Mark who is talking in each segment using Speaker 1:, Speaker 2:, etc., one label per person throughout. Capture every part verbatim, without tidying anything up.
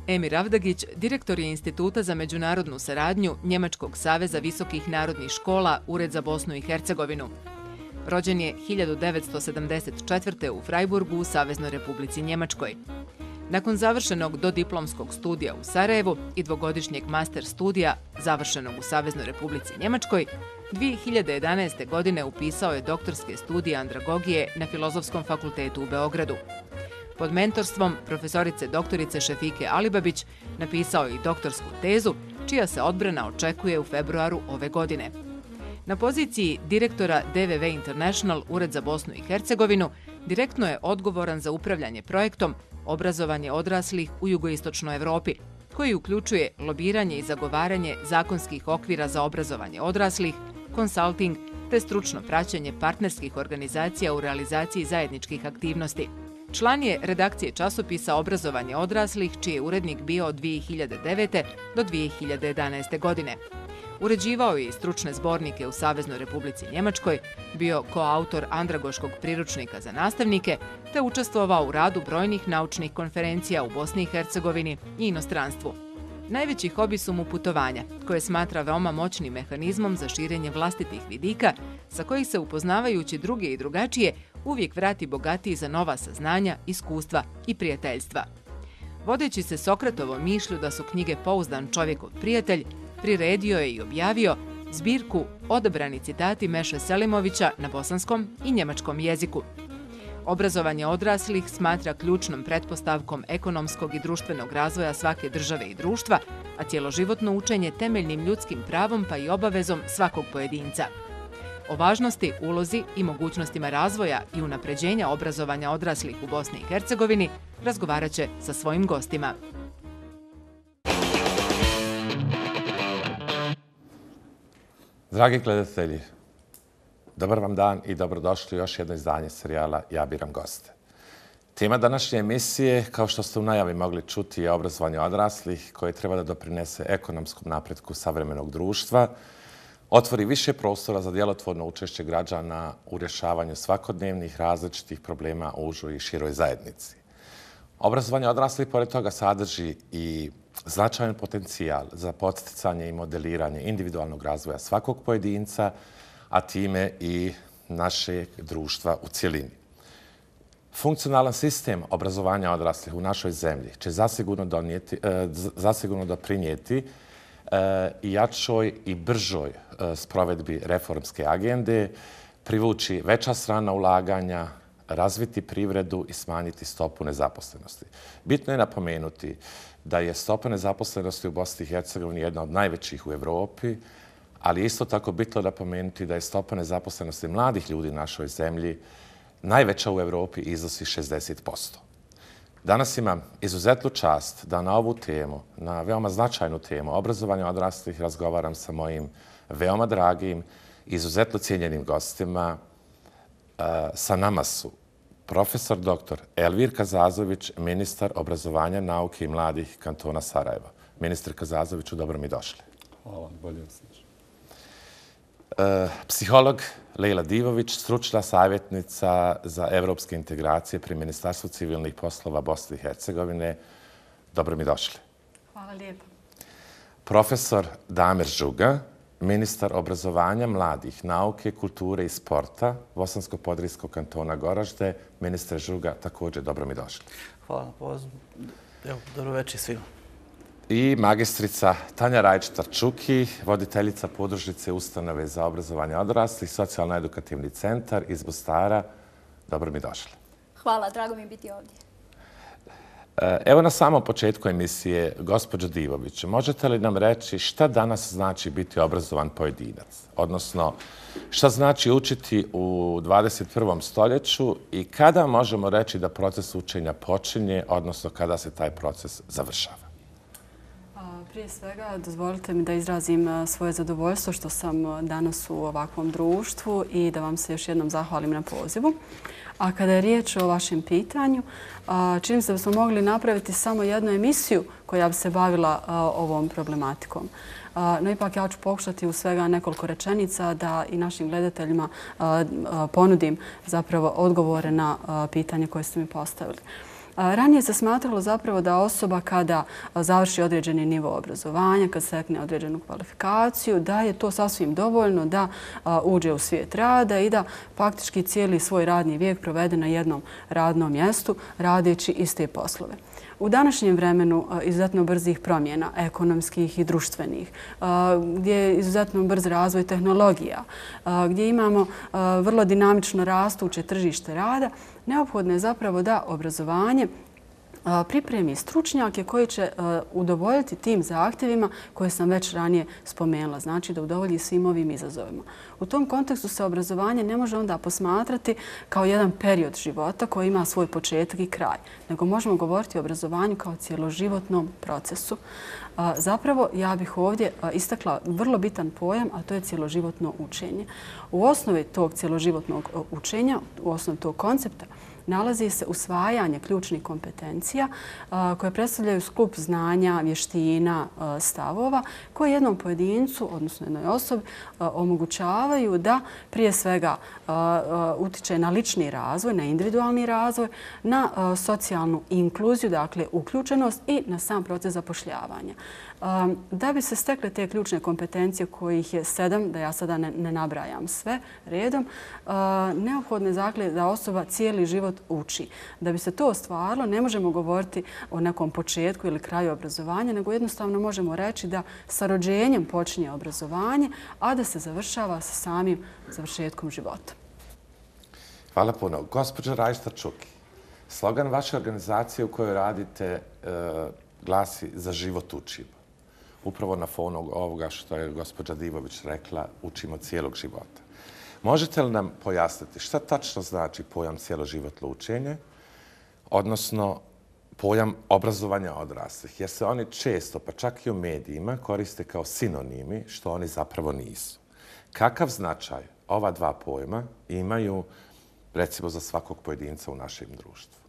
Speaker 1: Emir Avdagić, direktor je Instituta za međunarodnu saradnju Njemačkog saveza visokih narodnih škola, Ured za Bosnu i Hercegovinu. Rođen je hiljadu devetsto sedamdeset četvrte. u Freiburgu u Saveznoj Republici Njemačkoj. Nakon završenog dodiplomskog studija u Sarajevu i dvogodišnjeg master studija završenog u Saveznoj Republici Njemačkoj, dvije hiljade jedanaeste. godine upisao je doktorske studije andragogije na Filozofskom fakultetu u Beogradu. Pod mentorstvom profesorice doktorice Šefike Alibabić napisao je i doktorsku tezu, čija se odbrana očekuje u februaru ove godine. Na poziciji direktora D V V International Ured za Bosnu i Hercegovinu direktno je odgovoran za upravljanje projektom Obrazovanje odraslih u jugoistočnoj Evropi, koji uključuje lobiranje i zagovaranje zakonskih okvira za obrazovanje odraslih, konsalting te stručno praćenje partnerskih organizacija u realizaciji zajedničkih aktivnosti. Član je redakcije časopisa Obrazovanje odraslih, čiji je urednik bio od dvije hiljade devete. do dvije hiljade jedanaeste. godine. Uređivao je i stručne zbornike u Saveznoj Republici Njemačkoj, bio koautor andragoškog priručnika za nastavnike, te učestvovao u radu brojnih naučnih konferencija u Bosni i Hercegovini i inostranstvu. Najveći hobi su mu putovanja, koje smatra veoma moćnim mehanizmom za širenje vlastitih vidika, sa kojih se, upoznavajući druge i drugačije, uvijek vrati bogatiji za nova saznanja, iskustva i prijateljstva. Vodeći se Sokratovom mišlju da su knjige pouzdan čovjekov prijatelj, priredio je i objavio zbirku Odabrani citati Meše Selimovića na bosanskom i njemačkom jeziku. Obrazovanje odraslih smatra ključnom pretpostavkom ekonomskog i društvenog razvoja svake države i društva, a cjeloživotno učenje temeljnim ljudskim pravom pa i obavezom svakog pojedinca. O važnosti, ulozi i mogućnostima razvoja i unapređenja obrazovanja odraslih u Bosni i Hercegovini razgovarat će sa svojim gostima.
Speaker 2: Dragi gledatelji, dobar vam dan i dobrodošli u još jedno izdanje serijala Ja biram goste. Tema današnje emisije, kao što ste u najavi mogli čuti, je obrazovanje odraslih koje treba da doprinese ekonomskom napretku savremenog društva, otvori više prostora za djelotvorno učešće građana u rješavanju svakodnevnih različitih problema u užoj i široj zajednici. Obrazovanje odraslih pored toga sadrži i značajan potencijal za podsticanje i modeliranje individualnog razvoja svakog pojedinca, a time i našeg društva u cjelini. Funkcionalan sistem obrazovanja odraslih u našoj zemlji će zasigurno, donijeti, zasigurno doprinijeti i jačoj i bržoj sprovedbi reformske agende, privući veća strana ulaganja, razviti privredu i smanjiti stopu nezaposlenosti. Bitno je napomenuti da je stopa nezaposlenosti u Bosni i Hercegovini jedna od najvećih u Evropi, ali isto tako bitno napomenuti da je stopa nezaposlenosti mladih ljudi u našoj zemlji najveća u Evropi i iznosi šezdeset posto. Danas imam izuzetnu čast da na ovu temu, na veoma značajnu temu obrazovanja odraslih, razgovaram sa mojim veoma dragim i izuzetno cijenjenim gostima. Sa nama su profesor doktor Elvir Kazazović, ministar obrazovanja, nauke i mladih kantona Sarajeva. Ministar Kazazoviću, dobro mi došli.
Speaker 3: Hvala, bolje vas znači.
Speaker 2: Psiholog Lejla Divović, stručna savjetnica za evropske integracije pri Ministarstvu civilnih poslova Bosne i Hercegovine. Dobro mi došli.
Speaker 4: Hvala lijepo.
Speaker 2: Profesor Damir Žuga, ministar obrazovanja, mladih, nauke, kulture i sporta Bosansko-Podrijskog kantona Goražde. Ministre Žuga, također dobro mi došli.
Speaker 5: Hvala na pozivu. Evo, dobro večer svima.
Speaker 2: I magistrica Tanja Rajić-Tarčuki, voditeljica podružnice Ustanove za obrazovanje odraslih, socijalno-edukativni centar iz Mostara. Dobro mi došli.
Speaker 4: Hvala, drago mi je biti ovdje.
Speaker 2: Evo na samom početku emisije, gospođo Divović, možete li nam reći šta danas znači biti obrazovan pojedinac? Odnosno, šta znači učiti u dvadeset prvom stoljeću i kada možemo reći da proces učenja počinje, odnosno kada se taj proces završava?
Speaker 4: Prije svega, dozvolite mi da izrazim svoje zadovoljstvo što sam danas u ovakvom društvu i da vam se još jednom zahvalim na pozivu. A kada je riječ o vašem pitanju, čini se da smo mogli napraviti samo jednu emisiju koja bi se bavila ovom problematikom. No ipak ja ću pokušati u svega nekoliko rečenica da i našim gledateljima ponudim zapravo odgovore na pitanje koje ste mi postavili. Ranije se smatralo zapravo da osoba kada završi određeni nivo obrazovanja, kad stekne određenu kvalifikaciju, da je to sasvim dovoljno da uđe u svijet rada i da faktički cijeli svoj radni vijek provede na jednom radnom mjestu radeći iste poslove. U današnjem vremenu izuzetno brzih promjena, ekonomskih i društvenih, gdje je izuzetno brz razvoj tehnologija, gdje imamo vrlo dinamično rastuće tržište rada, neophodno je zapravo da obrazovanje pripremi stručnjake koji će udovoljiti tim zahtjevima koje sam već ranije spomenula, znači da udovolji svim ovim izazovima. U tom kontekstu se obrazovanje ne može onda posmatrati kao jedan period života koji ima svoj početak i kraj, nego možemo govoriti o obrazovanju kao cijeloživotnom procesu. Zapravo, ja bih ovdje istakla vrlo bitan pojam, a to je cijeloživotno učenje. U osnovi tog cijeloživotnog učenja, u osnovi tog koncepta, nalazi se usvajanje ključnih kompetencija koje predstavljaju skup znanja, vještina, stavova koje jednom pojedincu, odnosno jednoj osobi, omogućavaju da prije svega utiče na lični razvoj, na individualni razvoj, na socijalnu inkluziju, dakle uključenost i na sam proces zapošljavanja. Da bi se stekle te ključne kompetencije kojih je sedam, da ja sada ne, ne nabrajam sve redom, neophodno je dakle da osoba cijeli život uči. Da bi se to ostvarilo, ne možemo govoriti o nekom početku ili kraju obrazovanja, nego jednostavno možemo reći da sa rođenjem počinje obrazovanje, a da se završava sa samim završetkom života.
Speaker 2: Hvala puno. Gospođa Rajsta Čuki, slogan vaše organizacije u kojoj radite e, glasi za život učimo. Upravo na fonu ovoga što je gospođa Divović rekla, učimo cijelog života. Možete li nam pojasniti šta tačno znači pojam cijeloživotno učenje, odnosno pojam obrazovanja odraslih? Jer se oni često, pa čak i u medijima, koriste kao sinonimi, što oni zapravo nisu. Kakav značaj ova dva pojma imaju, recimo, za svakog pojedinca u našem društvu?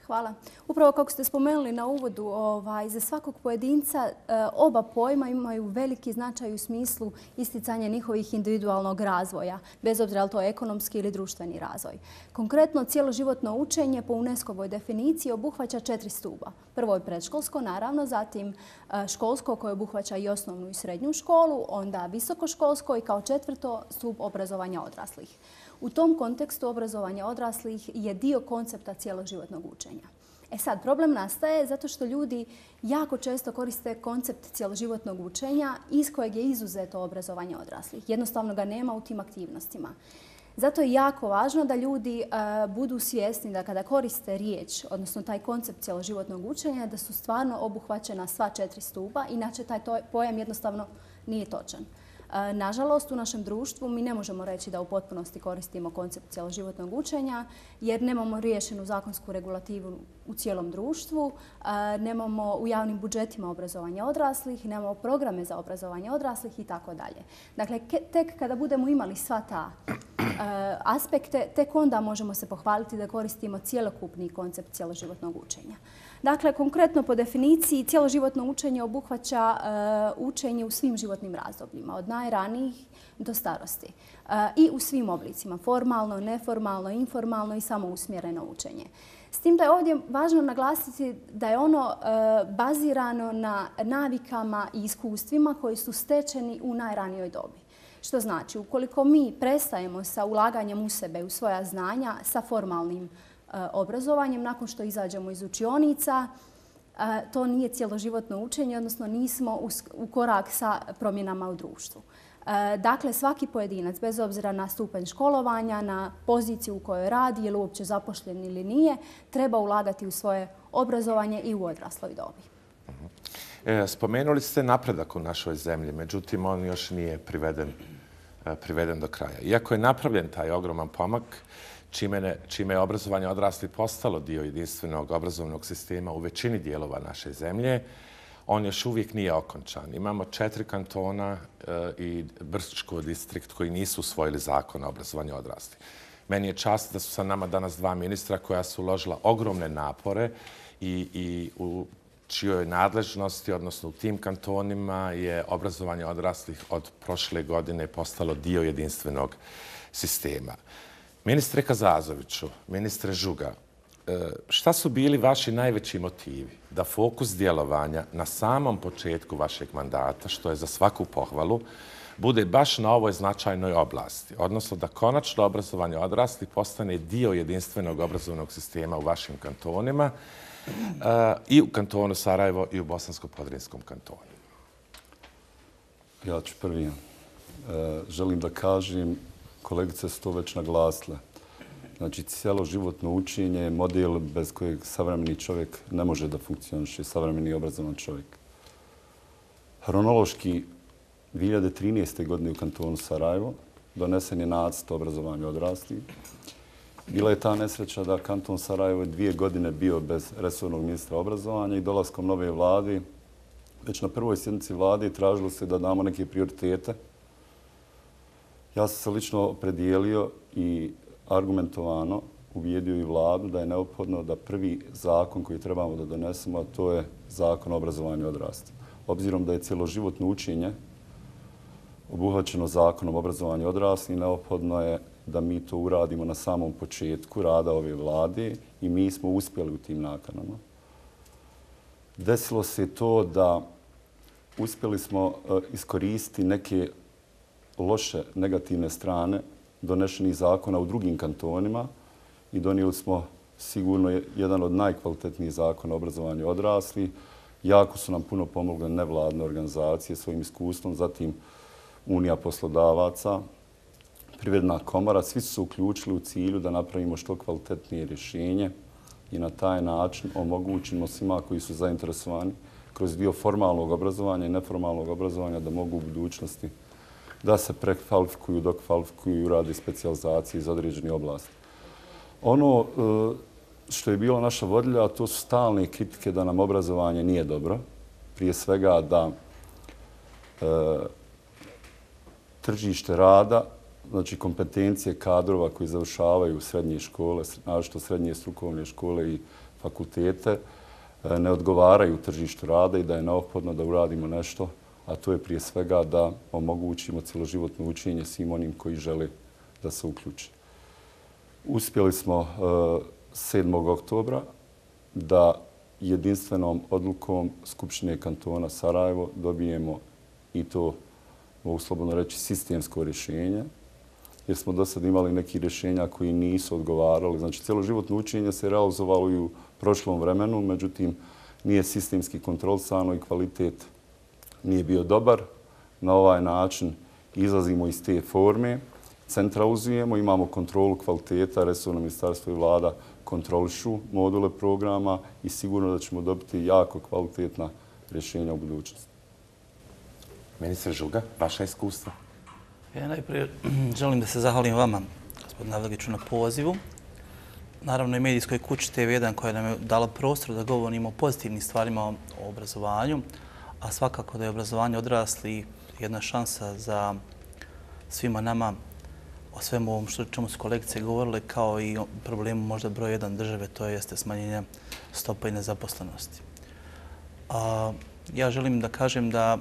Speaker 3: Hvala. Upravo kako ste spomenuli na uvodu, ovaj, za svakog pojedinca e, oba pojma imaju veliki značaj u smislu isticanja njihovih individualnog razvoja, bez obzira je li to ekonomski ili društveni razvoj. Konkretno, cijeloživotno učenje po UNESCO-voj definiciji obuhvaća četiri stuba. Prvo je predškolsko, naravno, zatim e, školsko koje obuhvaća i osnovnu i srednju školu, onda visokoškolsko i kao četvrto stup obrazovanja odraslih. U tom kontekstu obrazovanja odraslih je dio koncepta cijeloživotnog učenja. E sad, problem nastaje zato što ljudi jako često koriste koncept cijeloživotnog učenja iz kojeg je izuzeto obrazovanje odraslih. Jednostavno ga nema u tim aktivnostima. Zato je jako važno da ljudi uh, budu svjesni da kada koriste riječ, odnosno taj koncept cijeloživotnog učenja, da su stvarno obuhvaćena sva četiri stupa, inače taj pojam jednostavno nije točan. Nažalost, u našem društvu mi ne možemo reći da u potpunosti koristimo koncept cijeloživotnog učenja jer nemamo riješenu zakonsku regulativu u cijelom društvu, nemamo u javnim budžetima obrazovanja odraslih, nemamo programe za obrazovanje odraslih i tako dalje. Dakle, tek kada budemo imali sva ta aspekte, tek onda možemo se pohvaliti da koristimo cjelokupni koncept cijeloživotnog učenja. Dakle, konkretno po definiciji, cijeloživotno učenje obuhvaća uh, učenje u svim životnim razdobljima, od najranijih do starosti. Uh, I u svim oblicima, formalno, neformalno, informalno i samousmjereno učenje. S tim da je ovdje važno naglasiti da je ono uh, bazirano na navikama i iskustvima koji su stečeni u najranijoj dobi. Što znači, ukoliko mi prestajemo sa ulaganjem u sebe, u svoja znanja, sa formalnim obrazovanjem, nakon što izađemo iz učionica, to nije cijeloživotno učenje, odnosno nismo u korak sa promjenama u društvu. Dakle, svaki pojedinac, bez obzira na stupanj školovanja, na poziciju u kojoj radi, je li uopće zapošljen ili nije, treba ulagati u svoje obrazovanje i u odrasloj dobi.
Speaker 2: Spomenuli ste napredak u našoj zemlji, međutim, on još nije priveden, priveden do kraja. Iako je napravljen taj ogroman pomak, Čime, čime je obrazovanje odraslih postalo dio jedinstvenog obrazovnog sistema u većini dijelova naše zemlje, on još uvijek nije okončan. Imamo četiri kantona e, i Brčko distrikt koji nisu usvojili zakon o obrazovanju odraslih. Meni je čast da su sa nama danas dva ministra koja su uložila ogromne napore i, i u čijoj nadležnosti, odnosno u tim kantonima, je obrazovanje odraslih od prošle godine postalo dio jedinstvenog sistema. Ministre Kazazoviću, ministre Žuga, šta su bili vaši najveći motivi da fokus djelovanja na samom početku vašeg mandata, što je za svaku pohvalu, bude baš na ovoj značajnoj oblasti, odnosno da konačno obrazovanje odraslih postane dio jedinstvenog obrazovnog sistema u vašim kantonima i u kantonu Sarajevo i u Bosansko-Podrinjskom kantonu?
Speaker 6: Ja ću prvi. Želim da kažem, kolegice su to već naglasile. Znači, cijeloživotno učenje je model bez kojeg savremeni čovjek ne može da funkcioniše, savremeni obrazovan čovjek. Hronološki, dvije hiljade trinaeste. godine u kantonu Sarajevo donesen je nacrt o obrazovanju odraslih. Bila je ta nesreća da kanton Sarajevo je dvije godine bio bez resornog ministra obrazovanja i dolaskom nove vlade, već na prvoj sjednici vlade tražilo se da damo neke prioritete. Ja sam se lično opredijelio i argumentovano ubijedio i vladu da je neophodno da prvi zakon koji trebamo da donesemo, a to je zakon o obrazovanju odraslih. Obzirom da je cjeloživotno učenje obuhvaćeno zakonom o obrazovanju odraslih, neophodno je da mi to uradimo na samom početku rada ove vlade i mi smo uspjeli u tim nakanama. Desilo se to da uspjeli smo iskoristiti neke loše negativne strane donešenih zakona u drugim kantonima i donijeli smo sigurno jedan od najkvalitetnijih zakona o obrazovanju odraslih. Jako su nam puno pomogle nevladne organizacije svojim iskustvom, zatim Unija poslodavaca, Privredna komora. Svi su se uključili u cilju da napravimo što kvalitetnije rješenje i na taj način omogućimo svima koji su zainteresovani kroz dio formalnog obrazovanja i neformalnog obrazovanja da mogu u budućnosti da se prekvalifikuju, dokvalifikuju i rade specijalizacije iz određenih oblasti. Ono što je bila naša vodilja, to su stalne kritike da nam obrazovanje nije dobro. Prije svega da e, tržište rada, znači kompetencije kadrova koji završavaju srednje škole, naročito srednje strukovne škole i fakultete, ne odgovaraju tržištu rada i da je neophodno da uradimo nešto, a to je prije svega da omogućimo cjeloživotno učenje svim onim koji žele da se uključe. Uspjeli smo sedmog oktobra da jedinstvenom odlukom Skupštine kantona Sarajevo dobijemo i to, mogu slobodno reći, sistemsko rješenje, jer smo do sad imali neki rješenja koji nisu odgovarali. Znači, cjeloživotno učenje se realizovalo i u prošlom vremenu, međutim, nije sistemski kontrolisano i kvalitet nije bio dobar. Na ovaj način izlazimo iz te forme, centralizujemo, imamo kontrolu kvaliteta, resorno ministarstvo i vlada kontrolišu module programa i sigurno da ćemo dobiti jako kvalitetna rješenja u budućnosti.
Speaker 2: Ministar Žuga, vaša iskustva?
Speaker 5: Ja najprije želim da se zahvalim vama, gospodine Avdagiću, na pozivu. Naravno i medijskoj kući T V jedan koja nam je dala prostor da govorimo o pozitivnim stvarima o obrazovanju, a svakako da je obrazovanje odraslih jedna šansa za svima nama o svemu ovom što čemu su kolegice govorile, kao i o problemu možda broj jedan države, to jeste smanjenje stopa i nezaposlenosti. A, ja želim da kažem da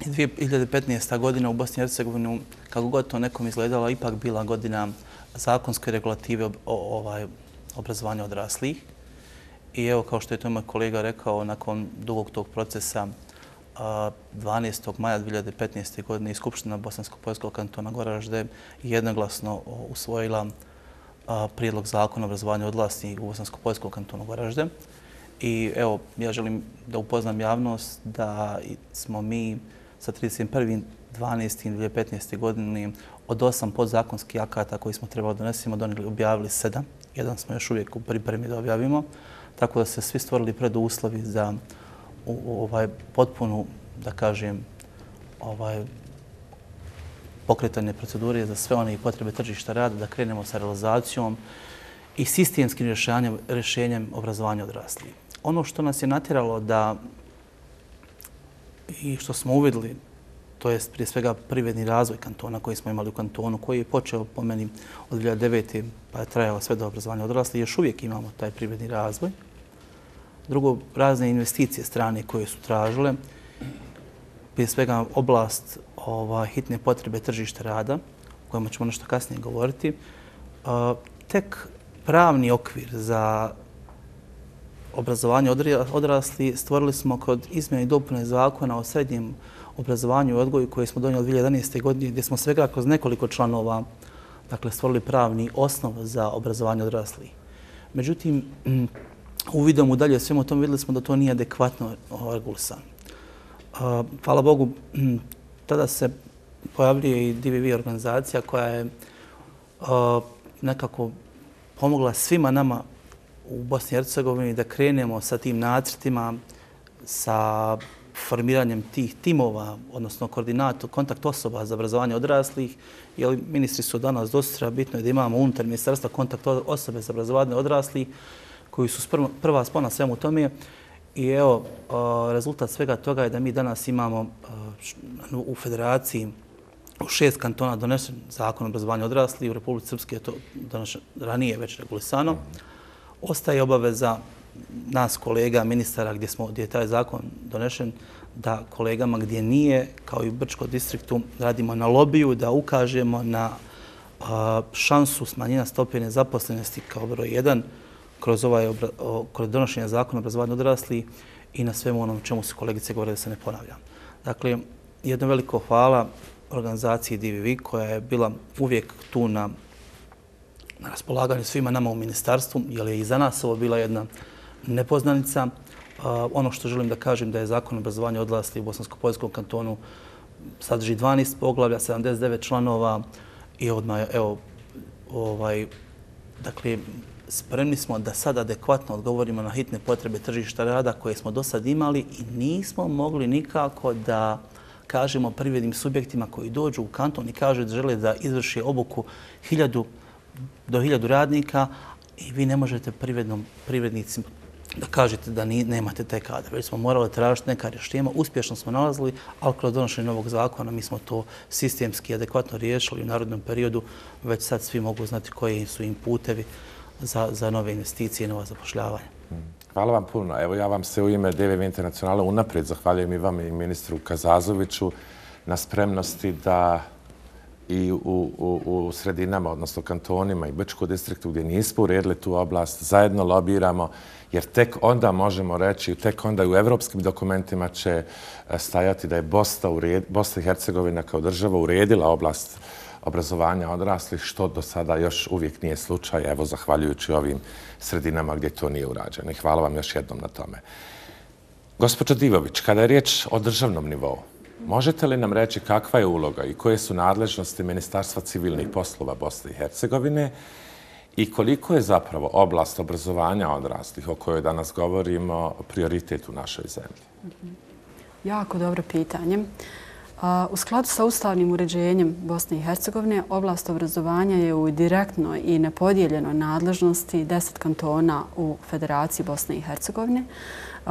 Speaker 5: dvije hiljade petnaesta. godina u Bosni i Hercegovini, kako god to nekom izgledala, ipak bila godina zakonske regulative o, ovaj, obrazovanja odraslih. I evo, kao što je to moj kolega rekao, nakon dugog tog procesa dvanaestog maja dvije hiljade petnaeste. godine i Skupština Bosansko-Podrinjskog kantona Goražde jednoglasno usvojila prijedlog zakona o obrazovanju odraslih u Bosansko-Podrinjskom kantonu Goražde. I evo, ja želim da upoznam javnost da smo mi sa trideset prvog dvanaestog dvije hiljade petnaeste. godine od osam podzakonskih akata koji smo trebali donesimo, donijeli, objavili sedam. Jedan smo još uvijek u pripremi da objavimo. Tako da se svi stvorili preduslovi za u ovaj potpunu, da kažem, ovaj pokretanje procedure za sve one potrebe tržišta rada, da krenemo sa realizacijom i sistemskim rješenjem, rješenjem obrazovanja odraslih. Ono što nas je natjeralo da i što smo uvidjeli, to je prije svega privredni razvoj kantona koji smo imali u kantonu, koji je počeo po meni od dvije hiljade devete. pa je trajalo sve do obrazovanja odraslih. Još uvijek imamo taj privredni razvoj. Drugo, razne investicije strane koje su tražile, prije svega oblast ova, hitne potrebe tržišta rada, o kojima ćemo nešto kasnije govoriti. Tek pravni okvir za obrazovanje odrasli stvorili smo kod izmjene i dopune zakona o srednjem obrazovanju i odgoju koji smo donijeli dvije hiljade jedanaeste. godine, gdje smo svega kroz nekoliko članova dakle, stvorili pravni osnov za obrazovanje odraslih. Međutim, uvidom u dalje svemu tome vidjeli smo da to nije adekvatno regulisano. Hvala Bogu, tada se pojavljuje i D V V organizacija koja je nekako pomogla svima nama u Bosni i Hercegovini da krenemo sa tim nacrtima, sa formiranjem tih timova, odnosno koordinator, kontakt osoba za obrazovanje odraslih, jer ministri su danas dosta, bitno je da imamo unutar ministarstva kontakt osobe za obrazovanje odraslih, koji su prva spona svemu tome. I evo, rezultat svega toga je da mi danas imamo u federaciji u šest kantona donesen zakon o obrazovanju odraslih, u Republici Srpske je to ranije već regulisano. Ostaje obaveza nas kolega, ministara, gdje, smo, gdje je taj zakon donešen, da kolegama gdje nije, kao i u Brčkom distriktu, radimo na lobiju, da ukažemo na a, šansu smanjenja stope nezaposlenosti kao broj jedan kroz, ovaj obra, o, kroz donošenje zakona o obrazovanju odraslih i na svemu onom čemu su kolegice govore da se ne ponavljam. Dakle, jedno veliko hvala organizaciji D V V koja je bila uvijek tu na na raspolaganju svima nama u ministarstvu, jer je i za nas ovo bila jedna nepoznanica. Uh, ono što želim da kažem da je zakon o obrazovanju odraslih u Bosansko-Poljskom kantonu sadrži dvanaest poglavlja, sedamdeset devet članova i odmah, evo, ovaj, dakle, spremni smo da sad adekvatno odgovorimo na hitne potrebe tržišta rada koje smo do sad imali i nismo mogli nikako da kažemo privrednim subjektima koji dođu u kanton i kažu da žele da izvrše obuku hiljadu do hiljadu radnika i vi ne možete privrednom, privrednicima da kažete da ni, nemate taj kadar. Već smo morali tražiti neka rješenja, uspješno smo nalazili, ali kroz donošenje novog zakona mi smo to sistemski adekvatno riješili u narodnom periodu. Već sad svi mogu znati koji su im putevi za, za nove investicije i nova zapošljavanja.
Speaker 2: Hvala vam puno. Evo ja vam se u ime D V V Internacionala unaprijed zahvaljujem i vam i ministru Kazazoviću na spremnosti da i u, u, u sredinama, odnosno kantonima i Brčkom distriktu gdje nismo uredili tu oblast, zajedno lobiramo, jer tek onda možemo reći, tek onda i u evropskim dokumentima će stajati da je Bosna, ured, Bosna i Hercegovina kao država uredila oblast obrazovanja odraslih, što do sada još uvijek nije slučaj, evo zahvaljujući ovim sredinama gdje to nije urađeno. I hvala vam još jednom na tome. Gospođo Divović, kada je riječ o državnom nivou, možete li nam reći kakva je uloga i koje su nadležnosti Ministarstva civilnih poslova Bosne i Hercegovine i koliko je zapravo oblast obrazovanja odraslih o kojoj danas govorimo prioritet u našoj zemlji?
Speaker 4: Jako dobro pitanje. U skladu sa ustavnim uređenjem Bosne i Hercegovine, oblast obrazovanja je u direktnoj i nepodijeljenoj nadležnosti deset kantona u Federaciji Bosne i Hercegovine,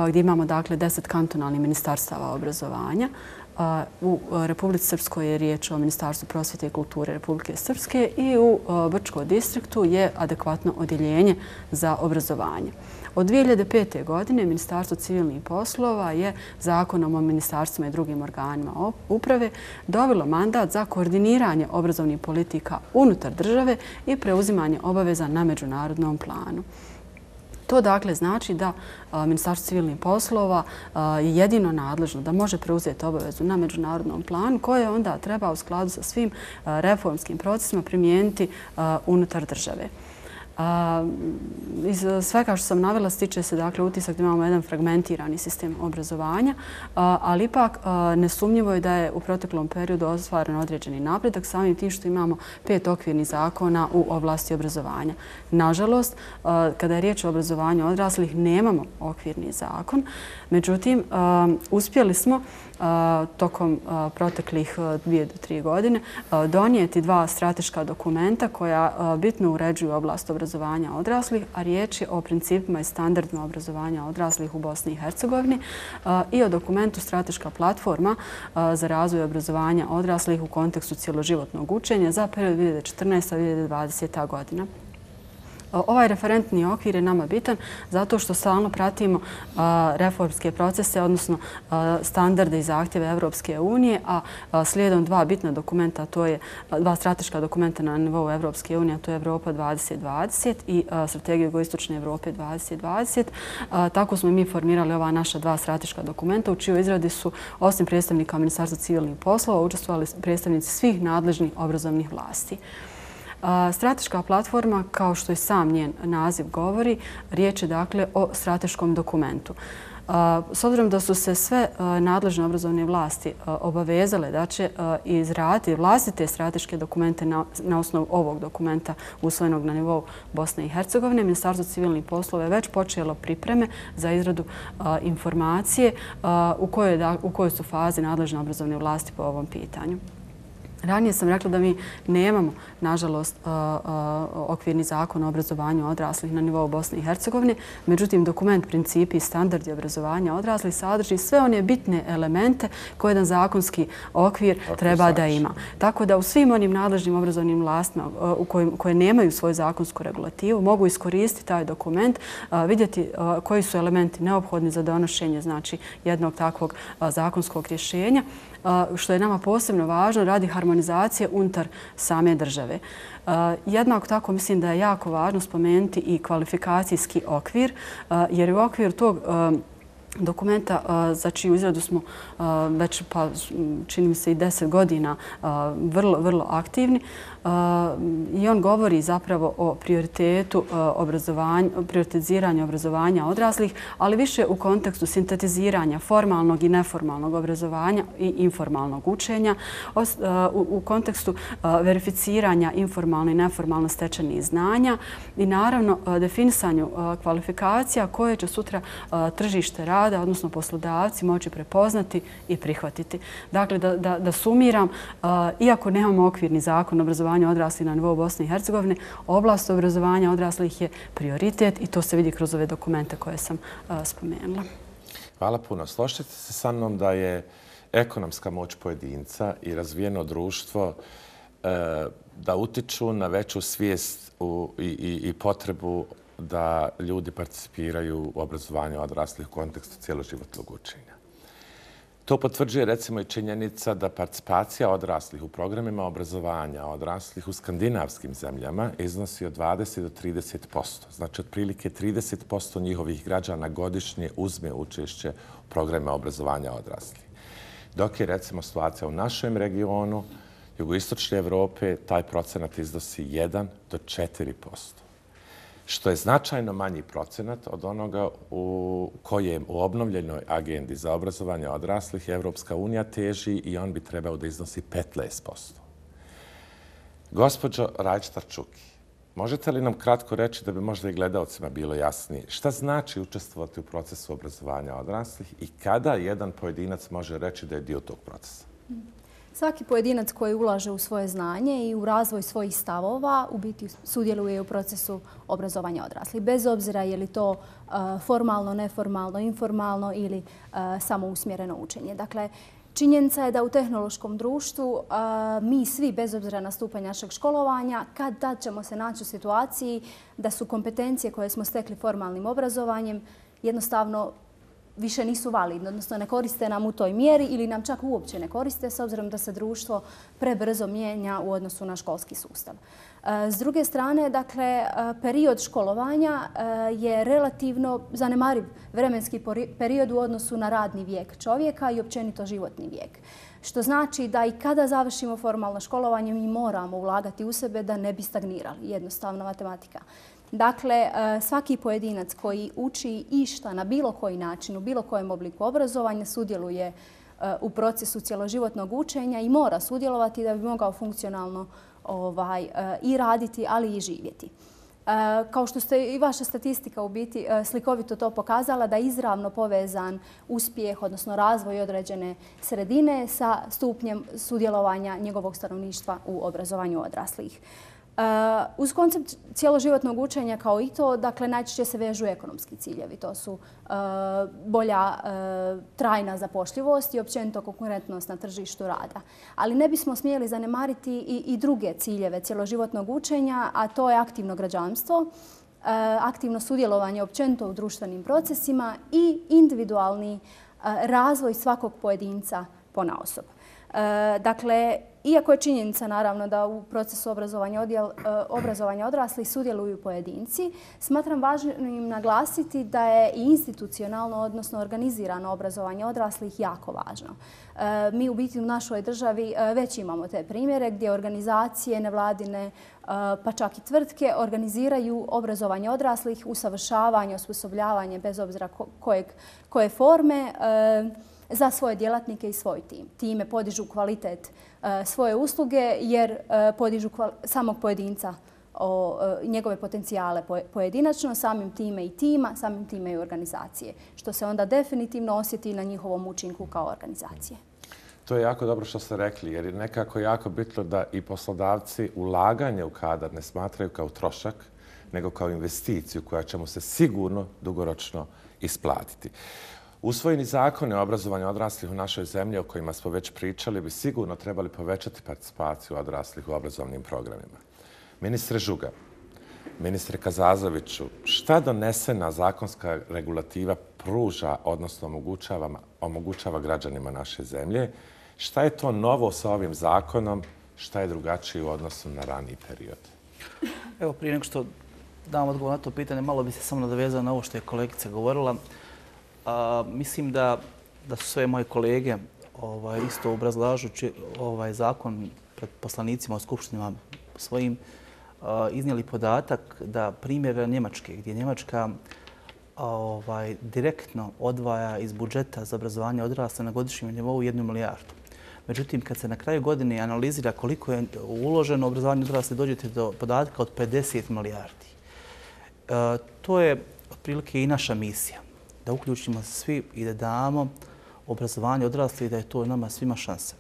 Speaker 4: gdje imamo dakle deset kantonalnih ministarstava obrazovanja. U Republici Srpskoj je riječ o Ministarstvu prosvjete i kulture Republike Srpske i u Brčkom distriktu je adekvatno odjeljenje za obrazovanje. Od dvije hiljade pete. godine Ministarstvo civilnih poslova je zakonom o ministarstvima i drugim organima uprave dobilo mandat za koordiniranje obrazovnih politika unutar države i preuzimanje obaveza na međunarodnom planu. To dakle znači da Ministarstvo civilnih poslova je jedino nadležno da može preuzeti obavezu na međunarodnom planu koje onda treba u skladu sa svim reformskim procesima primijeniti unutar države. Iz svega što sam navela stiče se dakle utisak da imamo jedan fragmentirani sistem obrazovanja, ali ipak nesumnjivo je da je u proteklom periodu ostvaren određeni napredak samim tim što imamo pet okvirnih zakona u oblasti obrazovanja. Nažalost, kada je riječ o obrazovanju odraslih, nemamo okvirni zakon. Međutim, uspjeli smo tokom proteklih dvije do tri godine donijeti dva strateška dokumenta koja bitno uređuju oblast obrazovanja odraslih, a riječ je o principima i standardima obrazovanja odraslih u Bosni i Hercegovini i o dokumentu Strateška platforma za razvoj obrazovanja odraslih u kontekstu cjeloživotnog učenja za period dvije hiljade četrnaesta do dvije hiljade dvadesete. godina. Ovaj referentni okvir je nama bitan zato što stalno pratimo reformske procese, odnosno standarde i zahtjeve Evropske unije, a slijedom dva bitna dokumenta, to je dva strateška dokumenta na nivou Evropske unije, to je Evropa dvadeset dvadeset i Strategija Jugoistočne Evrope dvadeset dvadeset. Tako smo mi formirali ova naša dva strateška dokumenta u čijoj izradi su osim predstavnika Ministarstva civilnih poslova učestvovali predstavnici svih nadležnih obrazovnih vlasti. Strateška platforma, kao što i sam njen naziv govori, riječ je dakle o strateškom dokumentu. S obzirom da su se sve nadležne obrazovne vlasti obavezale da će izraditi vlastite strateške dokumente na osnovu ovog dokumenta usvojenog na nivou Bosne i Hercegovine, Ministarstvo civilnih poslova je već počelo pripreme za izradu informacije u kojoj su fazi nadležne obrazovne vlasti po ovom pitanju. Ranije sam rekla da mi nemamo, nažalost, okvirni zakon o obrazovanju odraslih na nivou Bosne i Hercegovine. Međutim, dokument Principi i standardi obrazovanja odraslih sadrži sve one bitne elemente koje jedan zakonski okvir treba da ima. Tako da u svim onim nadležnim obrazovnim vlastima koje nemaju svoju zakonsku regulativu mogu iskoristiti taj dokument, vidjeti koji su elementi neophodni za donošenje jednog takvog zakonskog rješenja, što je nama posebno važno radi harmonizacije unutar same države. Jednako tako mislim da je jako važno spomenuti i kvalifikacijski okvir, jer u okviru tog dokumenta za čiju izradu smo već, pa čini mi se i deset godina, vrlo, vrlo aktivni. I on govori zapravo o prioritetu obrazovanja, prioritiziranju obrazovanja odraslih, ali više u kontekstu sintetiziranja formalnog i neformalnog obrazovanja i informalnog učenja, u kontekstu verificiranja informalno i neformalno stečenih znanja i naravno definisanju kvalifikacija koje će sutra tržište rada, odnosno poslodavci, moći prepoznati i prihvatiti. Dakle, da, da, da sumiram, iako nemamo okvirni zakon o obrazovanju odraslih na nivou Bosne i Hercegovine, oblast obrazovanja odraslih je prioritet i to se vidi kroz ove dokumente koje sam spomenula.
Speaker 2: Hvala puno. Složite se sa mnom da je ekonomska moć pojedinca i razvijeno društvo da utiču na veću svijest i, i, i potrebu da ljudi participiraju u obrazovanju odraslih u kontekstu cijeloživotnog učenja. To potvrđuje recimo i činjenica da participacija odraslih u programima obrazovanja odraslih u skandinavskim zemljama iznosi od dvadeset do trideset posto. Znači, otprilike trideset posto njihovih građana godišnje uzme učešće u programima obrazovanja odraslih. Dok je recimo situacija u našem regionu, jugoistočne Evrope, taj procenat iznosi jedan do četiri posto. Što je značajno manji procenat od onoga u kojem u obnovljenoj agendi za obrazovanje odraslih Evropska unija teži i on bi trebao da iznosi petnaest posto. Gospođo Rajić-Tarčuki, možete li nam kratko reći da bi možda i gledalcima bilo jasnije šta znači učestvovati u procesu obrazovanja odraslih i kada jedan pojedinac može reći da je dio tog procesa?
Speaker 3: Svaki pojedinac koji ulaže u svoje znanje i u razvoj svojih stavova u biti sudjeluje u procesu obrazovanja odraslih. Bez obzira je li to formalno, neformalno, informalno ili samousmjereno učenje. Dakle, činjenica je da u tehnološkom društvu mi svi, bez obzira na stupanj našeg školovanja, kad tad ćemo se naći u situaciji da su kompetencije koje smo stekli formalnim obrazovanjem jednostavno više nisu validne, odnosno ne koriste nam u toj mjeri ili nam čak uopće ne koriste s obzirom da se društvo prebrzo mijenja u odnosu na školski sustav. S druge strane, dakle, period školovanja je relativno zanemariv vremenski period u odnosu na radni vijek čovjeka i općenito životni vijek. Što znači da i kada završimo formalno školovanje mi moramo ulagati u sebe da ne bi stagnirali. Jednostavna matematika. Dakle, svaki pojedinac koji uči išta na bilo koji način, u bilo kojem obliku obrazovanja, sudjeluje u procesu cjeloživotnog učenja i mora sudjelovati da bi mogao funkcionalno ovaj, i raditi, ali i živjeti. Kao što ste i vaša statistika u biti slikovito to pokazala, da je izravno povezan uspjeh, odnosno razvoj određene sredine sa stupnjem sudjelovanja njegovog stanovništva u obrazovanju odraslih. Uz koncept cijeloživotnog učenja kao i to, dakle, najčešće se vežu ekonomski ciljevi. To su bolja trajna zapošljivost i općenito konkurentnost na tržištu rada. Ali ne bismo smjeli zanemariti i, i druge ciljeve cijeloživotnog učenja, a to je aktivno građanstvo, aktivno sudjelovanje općenito u društvenim procesima i individualni razvoj svakog pojedinca ponaosob. Dakle, iako je činjenica naravno da u procesu obrazovanja, odjel, obrazovanja odraslih sudjeluju pojedinci, smatram važnim naglasiti da je i institucionalno, odnosno organizirano obrazovanje odraslih jako važno. Mi u biti u našoj državi već imamo te primjere gdje organizacije, nevladine, pa čak i tvrtke organiziraju obrazovanje odraslih, usavršavanje, osposobljavanje bez obzira kojeg, koje forme, za svoje djelatnike i svoj tim. Time podižu kvalitet svoje usluge jer podižu samog pojedinca, o njegove potencijale pojedinačno, samim time i tima, samim time i organizacije, što se onda definitivno osjeti na njihovom učinku kao organizacije.
Speaker 2: To je jako dobro što ste rekli, jer je nekako jako bitno da i poslodavci ulaganje u kadar ne smatraju kao trošak, nego kao investiciju koja će mu se sigurno dugoročno isplatiti. Usvojeni zakoni o obrazovanju odraslih u našoj zemlji, o kojima smo već pričali, bi sigurno trebali povećati participaciju odraslih u obrazovnim programima. Ministre Žuga, ministre Kazazoviću, šta donesena zakonska regulativa pruža, odnosno omogućava, omogućava građanima naše zemlje? Šta je to novo sa ovim zakonom? Šta je drugačije u odnosu na raniji period?
Speaker 5: Evo, prije nego što dam odgovor na to pitanje, malo bi se samo nadovezao na ovo što je kolegica govorila. A, mislim da, da su sve moje kolege ovaj, isto obrazlažući ovaj zakon pred poslanicima u skupštinama svojim a, iznijeli podatak da primjer Njemačke, gdje Njemačka a, ovaj, direktno odvaja iz budžeta za obrazovanje odrasla na godišnjem nivou jednu milijardu. Međutim, kad se na kraju godine analizira koliko je uloženo u obrazovanje odrasli, dođete do podatka od pedeset milijardi. A, to je otprilike i naša misija. Da uključimo se svi i da damo obrazovanje odraslih i da je to nama svima šansa.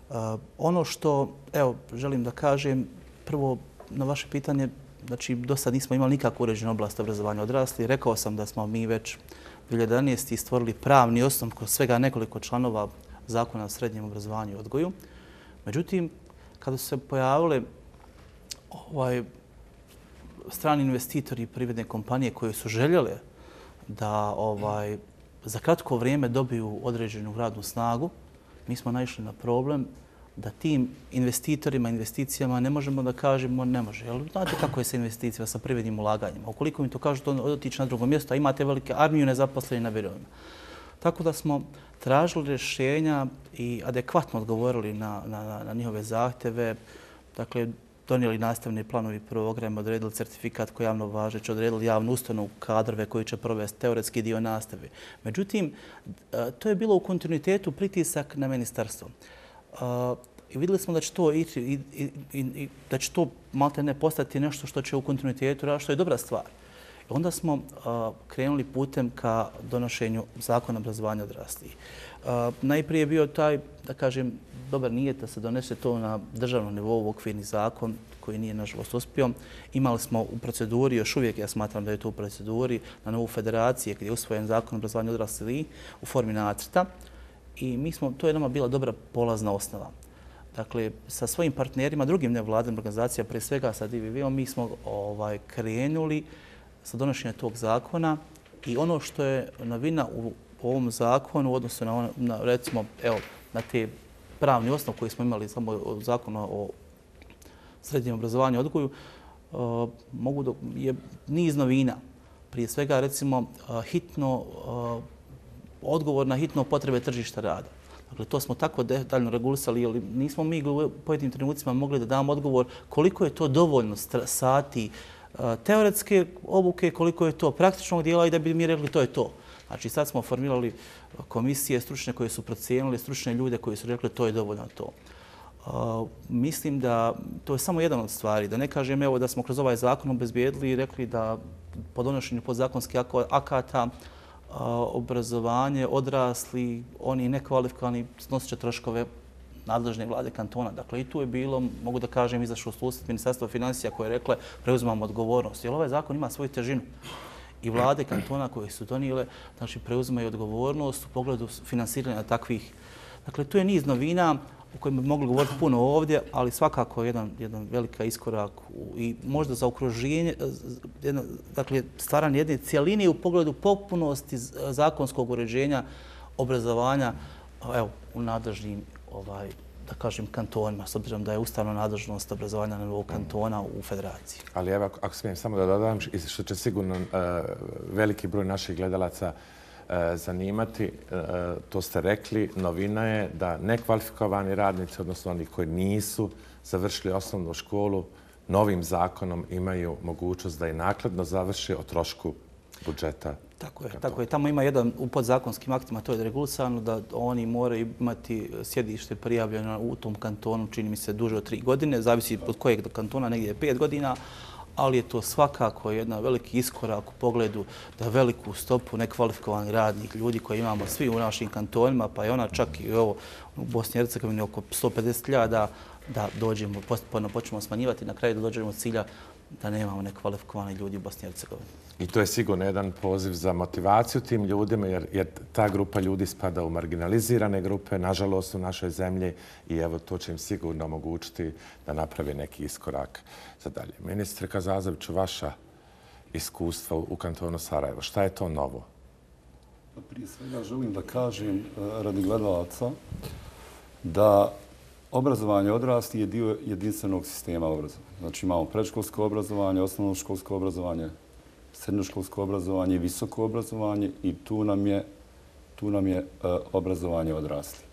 Speaker 5: Uh, ono što, evo, želim da kažem, prvo na vaše pitanje, znači, do sad nismo imali nikakvu uređenu oblast obrazovanja odraslih. Rekao sam da smo mi već dvije hiljade jedanaeste. stvorili pravni osnov kroz svega nekoliko članova zakona o srednjem obrazovanju i odgoju. Međutim, kada su se pojavile ovaj, strani investitori i privredne kompanije koje su željele da ovaj, za kratko vrijeme dobiju određenu radnu snagu, mi smo naišli na problem da tim investitorima, investicijama ne možemo da kažemo ne može. Jel, znate kako je sa investicijama, sa privrednim ulaganjima? Ukoliko mi to kažu, to otići na drugo mjesto, a imate velike armiju nezaposlenih na birovima. Tako da smo tražili rješenja i adekvatno odgovorili na, na, na njihove zahtjeve. Dakle, donijeli nastavne planovi programa, odredili certifikat koji je javno važeć, odredili javnu ustanovu, kadrove koji će provesti teoretski dio nastave. Međutim, to je bilo u kontinuitetu pritisak na ministarstvo. I vidjeli smo da će to ići i, i, i da će to malte ne postati nešto što će u kontinuitetu raditi, što je dobra stvar. I onda smo uh, krenuli putem ka donošenju zakona obrazovanja odraslih. Uh, najprije je bio taj, da kažem, dobar nijet da se donese to na državnom nivou, okvirni zakon koji nije nažalost uspio. Imali smo u proceduri, još uvijek ja smatram da je to u proceduri, na nivou federacije gdje je usvojen zakon obrazovanja odraslih u formi nacrta. I mi smo, to je nama bila dobra polazna osnova. Dakle, sa svojim partnerima, drugim nevladinim organizacijama, prije svega sa D V V-om, mi smo ovaj, krenuli sa donošenjem tog zakona i ono što je novina u ovom zakonu u odnosu na, na recimo, evo, na te pravni osnov koji smo imali samo od zakona o srednjem obrazovanju i odgoju, uh, mogu da je niz novina. Prije svega, recimo, uh, hitno, uh, odgovor na hitno potrebe tržišta rada. Dakle, to smo tako detaljno regulisali, jer nismo mi u pojedinim trenucima mogli da damo odgovor koliko je to dovoljno sati teoretske obuke, koliko je to praktičnog dijela i da bi mi rekli to je to. Znači, sad smo formirali komisije stručne koje su procijenili, stručne ljude koji su rekli to je dovoljno to. Uh, mislim da to je samo jedan od stvari. Da ne kažem evo da smo kroz ovaj zakon obezbijedili i rekli da po donošenju podzakonskih akata uh, obrazovanje, odrasli, oni nekvalifikovani snosit će troškove nadležne vlade kantona. Dakle, i tu je bilo, mogu da kažem, izašlo susret Ministarstva financija koje je rekle preuzimamo odgovornost. Jer ovaj zakon ima svoju težinu. I vlade kantona koje su donijele, znači, preuzimaju odgovornost u pogledu finansiranja takvih. Dakle, tu je niz novina o kojima bi mogli govoriti puno ovdje, ali svakako jedan, jedan velika iskorak u, i možda za okruženje, jedna, dakle, stvaranje jedne cijeline u pogledu potpunosti zakonskog uređenja obrazovanja, evo, u nadležnim, ovaj, da kažem, kantonima, s obzirom da je ustavna nadležnost obrazovanja na nivou kantona u federaciji.
Speaker 2: Ali evo, ako smijem samo da dodam, što će sigurno uh, veliki broj naših gledalaca uh, zanimati, uh, to ste rekli, novina je da nekvalifikovani radnici, odnosno oni koji nisu završili osnovnu školu, novim zakonom imaju mogućnost da i nakladno završe o trošku budžeta.
Speaker 5: Tako je, tako je. Tamo ima jedan u podzakonskim aktima, to je regulisano, da oni moraju imati sjedište prijavljeno u tom kantonu, čini mi se duže od tri godine, zavisi od kojeg kantona, negdje je pet godina, ali je to svakako jedan veliki iskorak u pogledu da veliku stopu nekvalifikovanih radnih ljudi koje imamo svi u našim kantonima, pa je ona čak i ovo u Bosni i Hercegovini oko sto pedeset hiljada, da dođemo, postupno počnemo smanjivati, na kraju da dođemo od cilja da nemamo nekvalifikovani ljudi u Bosni i Hercegovini.
Speaker 2: I to je sigurno jedan poziv za motivaciju tim ljudima, jer, jer ta grupa ljudi spada u marginalizirane grupe, nažalost, u našoj zemlji i evo to će im sigurno omogućiti da naprave neki iskorak za dalje. Ministre Kazazoviću, vaša iskustva u kantonu Sarajevo, šta je to novo?
Speaker 6: Prije svega želim da kažem radi gledalaca da obrazovanje odraslih je dio jedinstvenog sistema obrazovanja. Znači imamo predškolsko obrazovanje, osnovnoškolsko obrazovanje, srednjoškolsko obrazovanje i visoko obrazovanje i tu nam je, tu nam je uh, obrazovanje odraslih.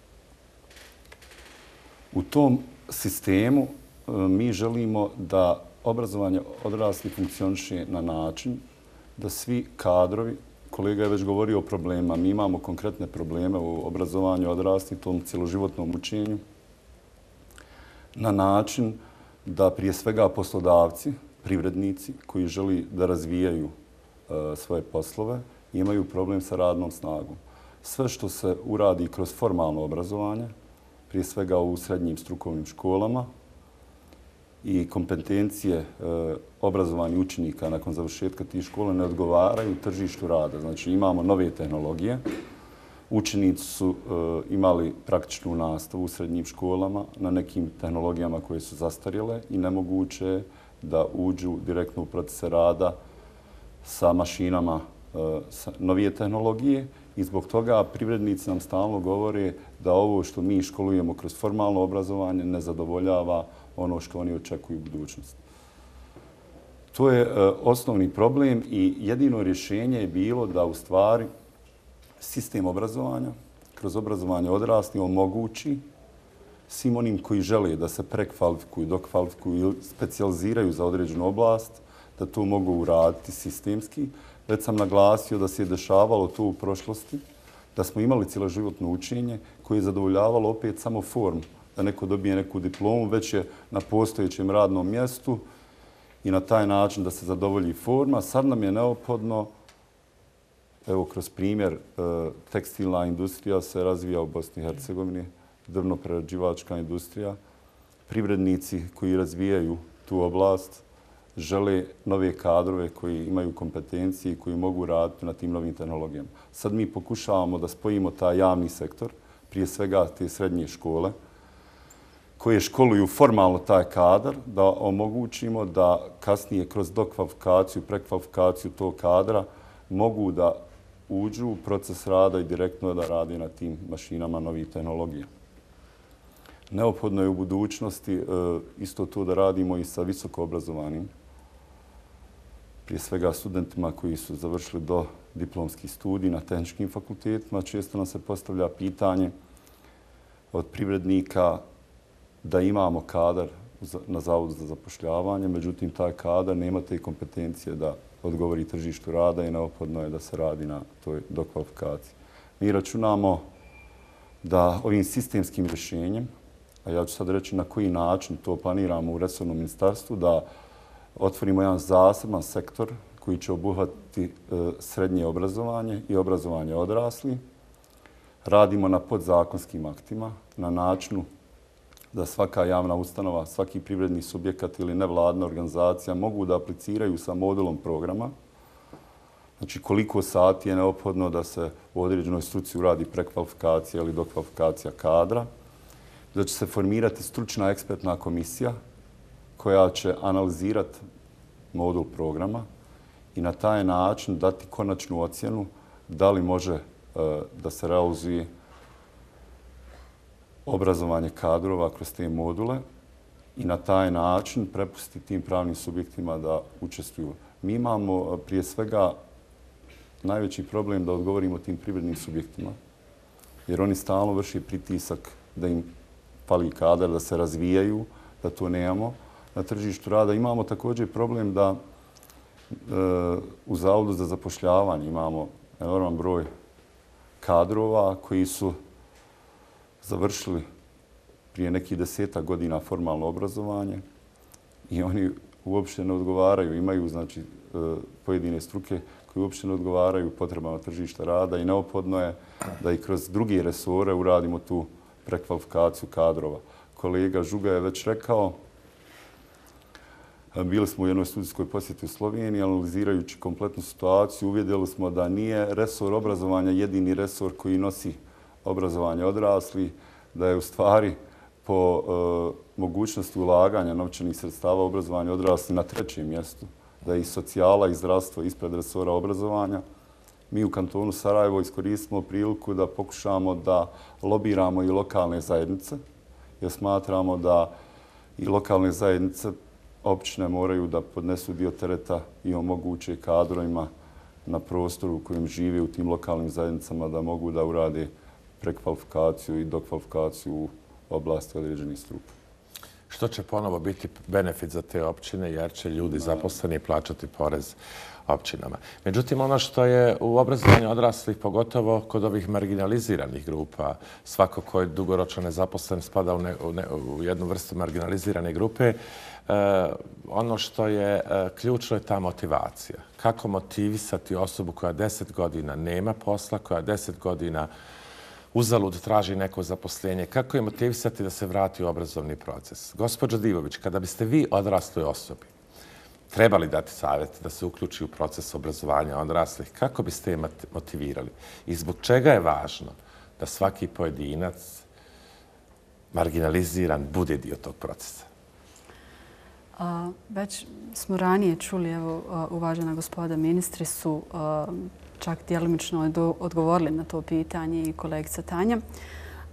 Speaker 6: U tom sistemu uh, mi želimo da obrazovanje odraslih funkcioniše na način da svi kadrovi, kolega je već govorio o problemima, mi imamo konkretne probleme u obrazovanju odraslih, tom cjeloživotnom učenju, na način da prije svega poslodavci, privrednici koji želi da razvijaju uh, svoje poslove, imaju problem sa radnom snagom. Sve što se uradi kroz formalno obrazovanje, prije svega u srednjim strukovnim školama i kompetencije uh, obrazovanja učenika nakon završetka tih škola ne odgovaraju tržištu rada. Znači imamo nove tehnologije. Učenici su uh, imali praktičnu nastavu u srednjim školama na nekim tehnologijama koje su zastarjele i nemoguće je da uđu direktno u procese rada sa mašinama uh, sa novije tehnologije i zbog toga privrednici nam stalno govore da ovo što mi školujemo kroz formalno obrazovanje ne zadovoljava ono što oni očekuju u budućnosti. To je uh, osnovni problem i jedino rješenje je bilo da u stvari sistem obrazovanja kroz obrazovanje odraslih omogući svim onim koji žele da se prekvalifikuju, dokvalifikuju ili specijaliziraju za određenu oblast, da to mogu uraditi sistemski. Već sam naglasio da se je dešavalo to u prošlosti, da smo imali cjeloživotno učenje koje je zadovoljavalo opet samo formu, da neko dobije neku diplomu, već je na postojećem radnom mjestu i na taj način da se zadovolji forma. Sad nam je neophodno, evo kroz primjer, tekstilna industrija se razvija u Bosni i Hercegovini, drvno-prerađivačka industrija. Privrednici koji razvijaju tu oblast žele nove kadrove koji imaju kompetencije i koji mogu raditi na tim novim tehnologijama. Sad mi pokušavamo da spojimo taj javni sektor, prije svega te srednje škole, koje školuju formalno taj kadar, da omogućimo da kasnije kroz dokvalifikaciju, prekvalifikaciju tog kadra mogu da uđu u proces rada i direktno da radi na tim mašinama novih tehnologija. Neophodno je u budućnosti isto to da radimo i sa visoko obrazovanim, prije svega studentima koji su završili do diplomskih studij na tehničkim fakultetima. Često nam se postavlja pitanje od privrednika da imamo kadar na Zavodu za zapošljavanje, međutim taj kadar nema te kompetencije da odgovori tržištu rada i neophodno je da se radi na toj dokvalifikaciji. Mi računamo da ovim sistemskim rješenjem, a ja ću sad reći na koji način to planiramo u resornom ministarstvu, da otvorimo jedan zaseban sektor koji će obuhvatiti srednje obrazovanje i obrazovanje odraslih. Radimo na podzakonskim aktima, na načinu da svaka javna ustanova, svaki privredni subjekat ili nevladna organizacija mogu da apliciraju sa modulom programa. Znači koliko sati je neophodno da se u određenoj struci uradi prekvalifikacija ili dokvalifikacija kadra. Da će se formirati stručna ekspertna komisija koja će analizirati modul programa i na taj način dati konačnu ocjenu da li može e, da se realizuje obrazovanje kadrova kroz te module i na taj način prepustiti tim pravnim subjektima da učestvuju. Mi imamo prije svega najveći problem da odgovorimo tim privrednim subjektima, jer oni stalno vrši pritisak da im fali kadar, da se razvijaju, da to nemamo. Na tržištu rada imamo također problem da e, u Zavodu za zapošljavanje imamo enorman broj kadrova koji su završili prije nekih deseta godina formalno obrazovanje i oni uopšte ne odgovaraju, imaju znači, pojedine struke koji uopšte ne odgovaraju potrebama tržišta rada i neophodno je da i kroz druge resore uradimo tu prekvalifikaciju kadrova. Kolega Žuga je već rekao, bili smo u jednoj studijskoj posjeti u Sloveniji, analizirajući kompletnu situaciju, uvidjeli smo da nije resor obrazovanja jedini resor koji nosi obrazovanje odraslih, da je u stvari po e, mogućnosti ulaganja novčanih sredstava obrazovanja odraslih na trećem mjestu, da je i socijala i zdravstvo ispred resora obrazovanja. Mi u kantonu Sarajevo iskoristimo priliku da pokušamo da lobiramo i lokalne zajednice, jer smatramo da i lokalne zajednice općine moraju da podnesu dio tereta i omoguće kadrovima na prostoru u kojem žive u tim lokalnim zajednicama da mogu da urade prekvalifikaciju i dokvalifikaciju u oblasti određenih struka.
Speaker 2: Što će ponovo biti benefit za te općine jer će ljudi zaposleni plaćati porez općinama. Međutim, ono što je u obrazovanju odraslih, pogotovo kod ovih marginaliziranih grupa, svako ko je dugoročno nezaposlen spada u, ne, u, ne, u jednu vrstu marginalizirane grupe, e, ono što je e, ključno je ta motivacija. Kako motivisati osobu koja deset godina nema posla, koja deset godina uzalud traži neko zaposlenje, kako je motivisati da se vrati u obrazovni proces. Gospođo Divović, kada biste vi odrasloj osobi trebali dati savjet da se uključi u proces obrazovanja odraslih, kako biste je motivirali? I zbog čega je važno da svaki pojedinac marginaliziran bude dio tog procesa?
Speaker 4: A, već smo ranije čuli, evo, uvažena gospoda ministri su a, čak djelomično odgovorili na to pitanje i kolegica Tanja.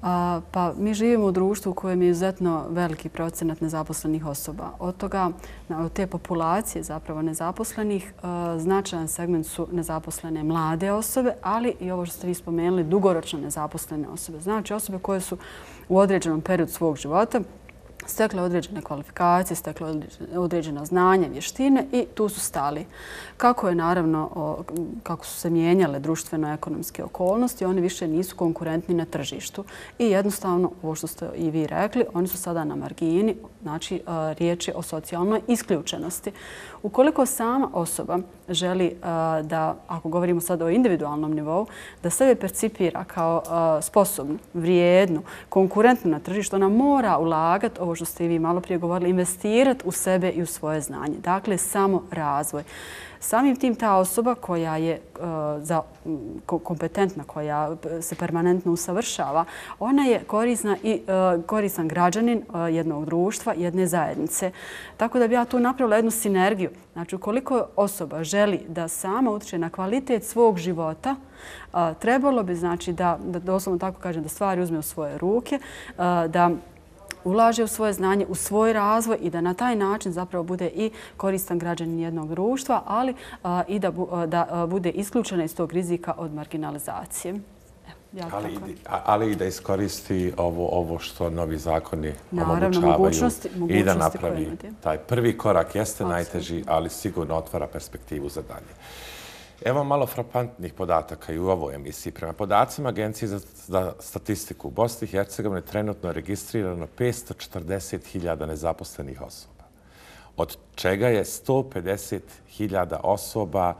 Speaker 4: A, pa mi živimo u društvu u kojem je izuzetno veliki procenat nezaposlenih osoba. Od toga, od te populacije zapravo nezaposlenih, a, značajan segment su nezaposlene mlade osobe, ali i ovo što ste vi spomenuli, dugoročno nezaposlene osobe. Znači osobe koje su u određenom periodu svog života stekle određene kvalifikacije, stekle određena znanja, vještine i tu su stali. Kako je naravno, kako su se mijenjale društveno-ekonomske okolnosti, oni više nisu konkurentni na tržištu. I jednostavno, ovo što ste i vi rekli, oni su sada na margini, znači riječ je o socijalnoj isključenosti. Ukoliko sama osoba želi da, ako govorimo sada o individualnom nivou, da sebe percipira kao sposobnu, vrijednu, konkurentnu na tržištu, ona mora ulagati, ovo što ste i vi malo prije govorili, investirati u sebe i u svoje znanje. Dakle, samo razvoj. Samim tim ta osoba koja je uh, za, um, kompetentna, koja se permanentno usavršava, ona je korisna i uh, koristan građanin uh, jednog društva, jedne zajednice. Tako da bi ja tu napravila jednu sinergiju. Znači, ukoliko osoba želi da sama utječe na kvalitet svog života, uh, trebalo bi, znači, da, da doslovno tako kažem, da stvari uzme u svoje ruke, uh, da ulaže u svoje znanje, u svoj razvoj i da na taj način zapravo bude i koristan građanin jednog društva, ali a, i da, bu, a, da a, bude isključena iz tog rizika od marginalizacije. Evo,
Speaker 2: ali, i, ali i da iskoristi ovo, ovo što novi zakoni
Speaker 4: Naravno,
Speaker 2: omogućavaju
Speaker 4: mogućnosti, mogućnosti
Speaker 2: i da napravi taj prvi korak. Jeste Absolutno. najteži, ali sigurno otvara perspektivu za dalje. Evo malo frapantnih podataka i u ovoj emisiji. Prema podacima Agencije za, za statistiku u Bosni i Hercegovini trenutno je registrirano petsto četrdeset hiljada nezaposlenih osoba, od čega je sto pedeset hiljada osoba,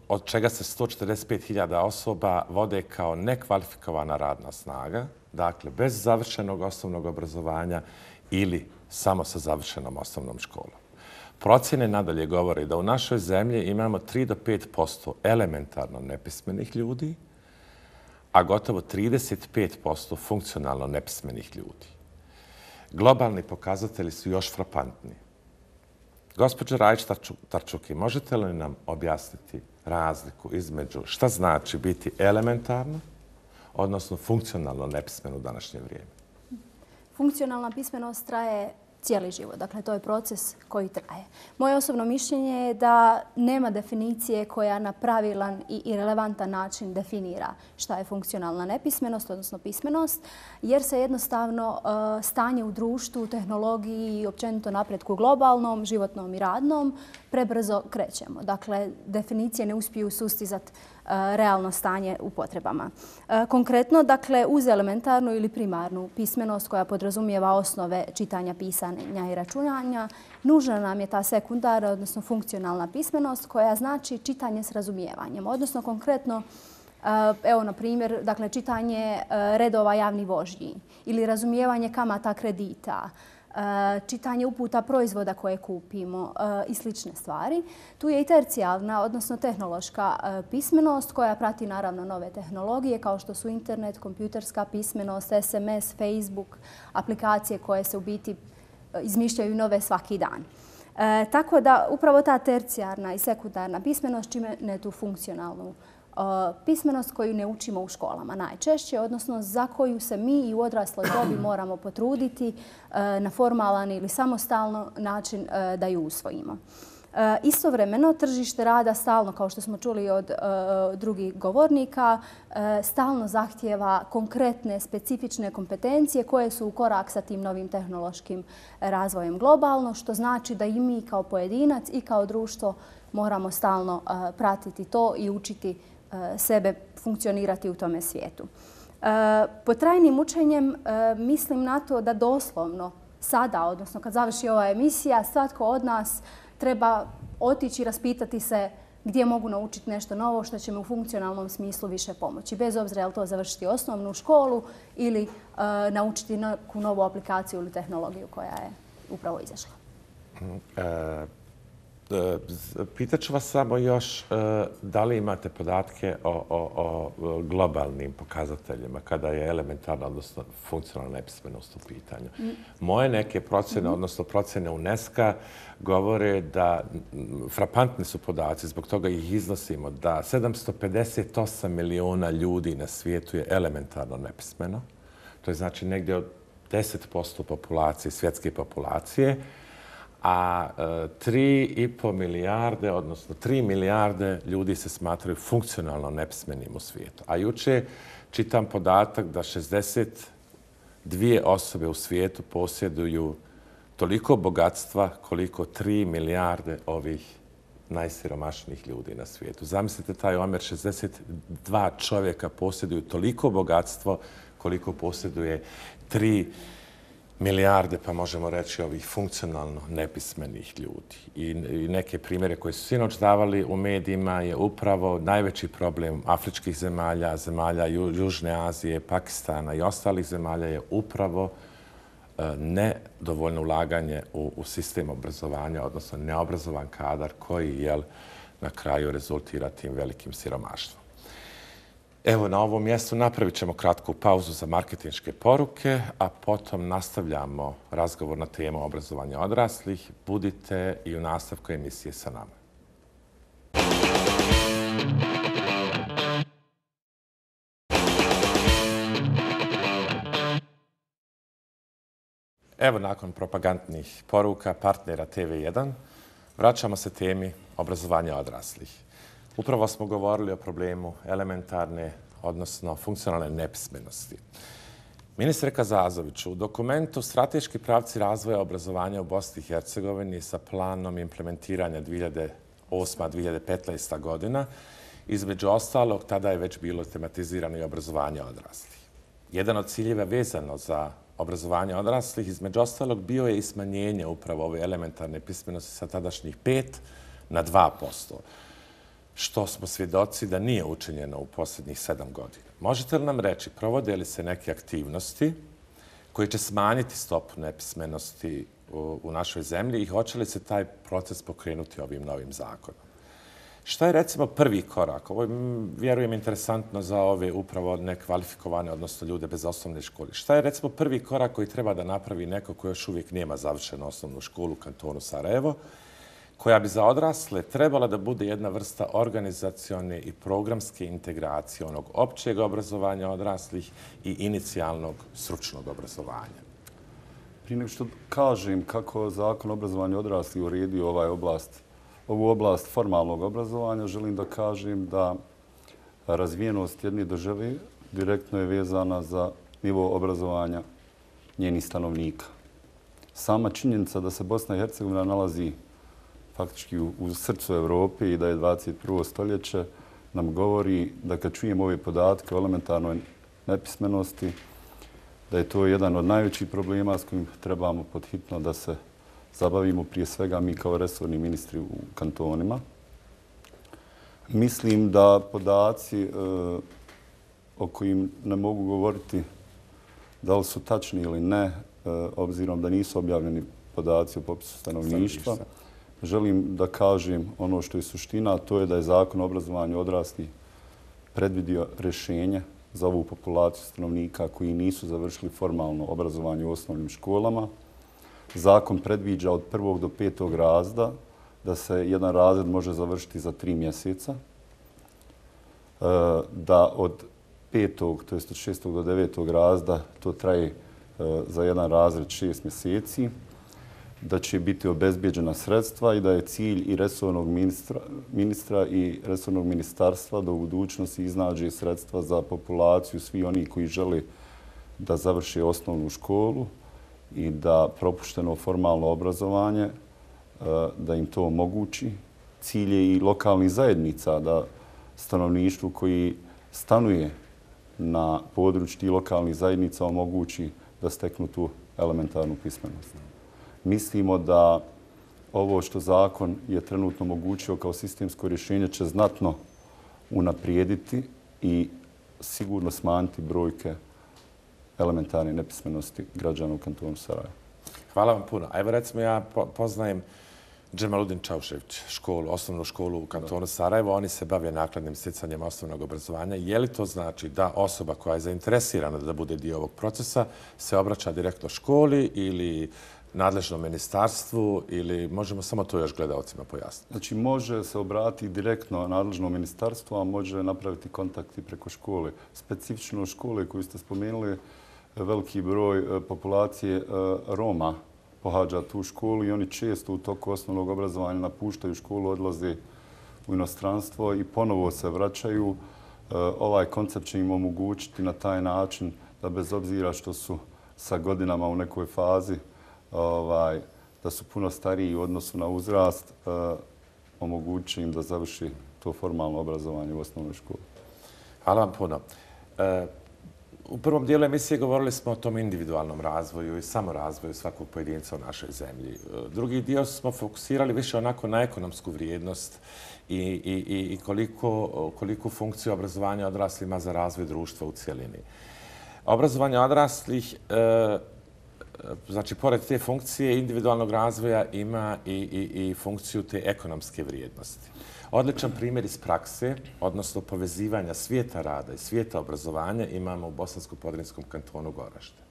Speaker 2: od čega se sto četrdeset pet hiljada osoba vode kao nekvalifikovana radna snaga, dakle bez završenog osnovnog obrazovanja ili samo sa završenom osnovnom školom. Procjene nadalje govore da u našoj zemlji imamo tri do pet posto elementarno nepismenih ljudi, a gotovo trideset pet posto funkcionalno nepismenih ljudi. Globalni pokazatelji su još frapantni. Gospođo Rajić-Tarčuki, možete li nam objasniti razliku između šta znači biti elementarno, odnosno funkcionalno nepismeno u današnje vrijeme?
Speaker 3: Funkcionalna pismenost traje cijeli život. Dakle, to je proces koji traje. Moje osobno mišljenje je da nema definicije koja na pravilan i relevantan način definira šta je funkcionalna nepismenost, odnosno pismenost, jer se jednostavno stanje u društvu, tehnologiji i općenito napretku globalnom, životnom i radnom prebrzo krećemo. Dakle, definicije ne uspiju sustizati realno stanje u potrebama. Konkretno, dakle, uz elementarnu ili primarnu pismenost koja podrazumijeva osnove čitanja, pisanja i računanja, nužna nam je ta sekundarna, odnosno funkcionalna pismenost koja znači čitanje s razumijevanjem. Odnosno, konkretno, evo, na primjer, dakle, čitanje redova javnih vožnji ili razumijevanje kamata kredita, čitanje uputa proizvoda koje kupimo i slične stvari. Tu je i tercijalna, odnosno tehnološka pismenost koja prati naravno nove tehnologije kao što su internet, kompjuterska pismenost, es em es, Facebook, aplikacije koje se u biti izmišljaju nove svaki dan. E, tako da upravo ta tercijarna i sekundarna pismenost čime ne tu funkcionalnu pismenost koju ne učimo u školama najčešće, odnosno za koju se mi i u odrasloj dobi moramo potruditi na formalan ili samostalno način da ju usvojimo. Istovremeno, tržište rada stalno, kao što smo čuli od drugih govornika, stalno zahtijeva konkretne, specifične kompetencije koje su u korak sa tim novim tehnološkim razvojem globalno, što znači da i mi kao pojedinac i kao društvo moramo stalno pratiti to i učiti sebe funkcionirati u tome svijetu. Pod trajnim učenjem mislim na to da doslovno sada, odnosno kad završi ova emisija, svatko od nas treba otići i raspitati se gdje mogu naučiti nešto novo što će mi u funkcionalnom smislu više pomoći. Bez obzira je li to završiti osnovnu školu ili naučiti neku novu aplikaciju ili tehnologiju koja je upravo izašla.
Speaker 2: E Pitaću vas samo još da li imate podatke o, o, o globalnim pokazateljima kada je elementarna, odnosno funkcionalna nepismenost u pitanju. Moje neke procjene, odnosno procjene UNESCO govore da frapantni su podaci, zbog toga ih iznosimo, da sedamsto pedeset osam miliona ljudi na svijetu je elementarno nepismeno. To je znači negdje od deset posto populacije, svjetske populacije, a tri i po milijarde, odnosno tri milijarde ljudi se smatraju funkcionalno nepismenim u svijetu. A juče čitam podatak da šezdeset dvije osobe u svijetu posjeduju toliko bogatstva koliko tri milijarde ovih najsiromašnijih ljudi na svijetu. Zamislite taj omjer, šezdeset dva čovjeka posjeduju toliko bogatstvo koliko posjeduje tri milijarde, pa možemo reći, ovih funkcionalno nepismenih ljudi. I, i neke primjere koje su sinoć davali u medijima je upravo najveći problem afričkih zemalja, zemalja Ju, Južne Azije, Pakistana i ostalih zemalja je upravo e, nedovoljno ulaganje u, u sistem obrazovanja, odnosno neobrazovan kadar koji jel, na kraju rezultira tim velikim siromaštvom. Evo, na ovom mjestu napravit ćemo kratku pauzu za marketinške poruke, a potom nastavljamo razgovor na temu obrazovanja odraslih. Budite i u nastavku emisije sa nama. Evo, nakon propagandnih poruka partnera te ve jedan, vraćamo se temi obrazovanja odraslih. Upravo smo govorili o problemu elementarne, odnosno funkcionalne nepismenosti. Ministre Kazazoviću, u dokumentu Strateški pravci razvoja obrazovanja u Bosni i Hercegovini sa planom implementiranja dvije hiljade osma do dvije hiljade petnaesta godina, između ostalog, tada je već bilo tematizirano i obrazovanje odraslih. Jedan od ciljeva vezano za obrazovanje odraslih, između ostalog, bio je i smanjenje upravo ove elementarne pismenosti sa tadašnjih pet na dva posto. Što smo svjedoci da nije učinjeno u posljednjih sedam godina. Možete li nam reći, provode li se neke aktivnosti koje će smanjiti stopu nepismenosti u, u našoj zemlji i hoće li se taj proces pokrenuti ovim novim zakonom? Šta je recimo prvi korak? Ovo je, vjerujem, interesantno za ove upravo nekvalifikovane, odnosno ljude bez osnovne škole. Šta je recimo prvi korak koji treba da napravi neko koji još uvijek nema završenu osnovnu školu u kantonu Sarajevo, koja bi za odrasle trebala da bude jedna vrsta organizacione i programske integracije onog općeg obrazovanja odraslih i inicijalnog stručnog obrazovanja?
Speaker 6: Prije nego što kažem kako Zakon o obrazovanju odraslih uredio ovaj oblast, ovu oblast formalnog obrazovanja, želim da kažem da razvijenost jedne države direktno je vezana za nivo obrazovanja njenih stanovnika. Sama činjenica da se Bosna i Hercegovina nalazi faktički u, u srcu Evrope i da je dvadeset prvo stoljeće nam govori da kad čujemo ove podatke o elementarnoj nepismenosti, da je to jedan od najvećih problema s kojim trebamo podhitno da se zabavimo, prije svega mi kao resorni ministri u kantonima. Mislim da podaci e, o kojim ne mogu govoriti da li su tačni ili ne, e, obzirom da nisu objavljeni podaci o popisu stanovništva, želim da kažem ono što je suština, a to je da je Zakon o obrazovanju odraslih predvidio rješenje za ovu populaciju stanovnika koji nisu završili formalno obrazovanje u osnovnim školama. Zakon predviđa od prvog do petog razreda da se jedan razred može završiti za tri mjeseca, da od petog, to jest od šestog do devetog razreda to traje za jedan razred šest mjeseci, da će biti obezbijeđena sredstva i da je cilj i resornog ministra, ministra i resornog ministarstva da u budućnosti iznađe sredstva za populaciju svi oni koji žele da završe osnovnu školu i da propušteno formalno obrazovanje, da im to omogući. Cilj je i lokalnih zajednica da stanovništvu koji stanuje na području tih lokalnih zajednica omogući da steknu tu elementarnu pismenost. Mislimo da ovo što zakon je trenutno omogućio kao sistemsko rješenje će znatno unaprijediti i sigurno smanjiti brojke elementarne nepismenosti građana u kantonu Sarajevo.
Speaker 2: Hvala vam puno. A evo recimo ja poznajem Džemaludin Čaušević, školu, osnovnu školu u kantonu Sarajevo. Oni se bave nakladnim stjecanjem osnovnog obrazovanja. Je li to znači da osoba koja je zainteresirana da bude dio ovog procesa se obraća direktno školi ili nadležnom ministarstvu ili možemo samo to još gledalcima pojasniti?
Speaker 6: Znači može se obratiti direktno nadležnom ministarstvu, a može napraviti kontakti preko škole. Specifično škole koju ste spomenuli, veliki broj populacije Roma pohađa tu školu i oni često u toku osnovnog obrazovanja napuštaju školu, odlaze u inostranstvo i ponovo se vraćaju. Ovaj koncept će im omogućiti na taj način da bez obzira što su sa godinama u nekoj fazi, ovaj, da su puno stariji u odnosu na uzrast, omogući im da završi to formalno obrazovanje u osnovnoj školi.
Speaker 2: Hvala vam puno. U prvom dijelu emisije govorili smo o tom individualnom razvoju i samorazvoju svakog pojedinca u našoj zemlji. Drugi dio smo fokusirali više onako na ekonomsku vrijednost i, i, i koliko, koliko funkciju obrazovanja odraslih ima za razvoj društva u cijelini. Obrazovanje odraslih, znači, pored te funkcije individualnog razvoja ima i, i, i funkciju te ekonomske vrijednosti. Odličan primjer iz prakse, odnosno povezivanja svijeta rada i svijeta obrazovanja, imamo u Bosansko-Podrinjskom kantonu Goražde.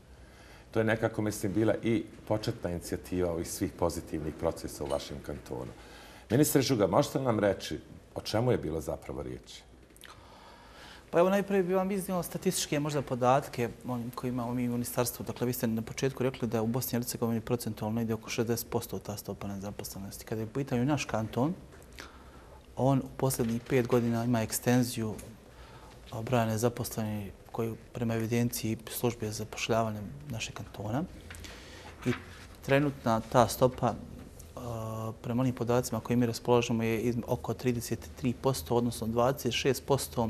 Speaker 2: To je nekako, mislim, bila i početna inicijativa ovih svih pozitivnih procesa u vašem kantonu. Ministre Žuga, možete li nam reći o čemu je bilo zapravo riječ?
Speaker 5: Pa evo najprije bih vam iznio statističke možda podatke koje imamo mi u ministarstvu. Dakle, vi ste na početku rekli da je u Bosni i Hercegovini procentualno ide oko šezdeset posto ta stopa nezaposlenosti. Kada je u pitanju naš kanton, on u posljednjih pet godina ima ekstenziju broja nezaposlenih koji prema evidenciji službe za zapošljavanje našeg kantona. I trenutna ta stopa prema onim podacima koje mi raspolažemo je oko trideset tri posto, odnosno dvadeset šest posto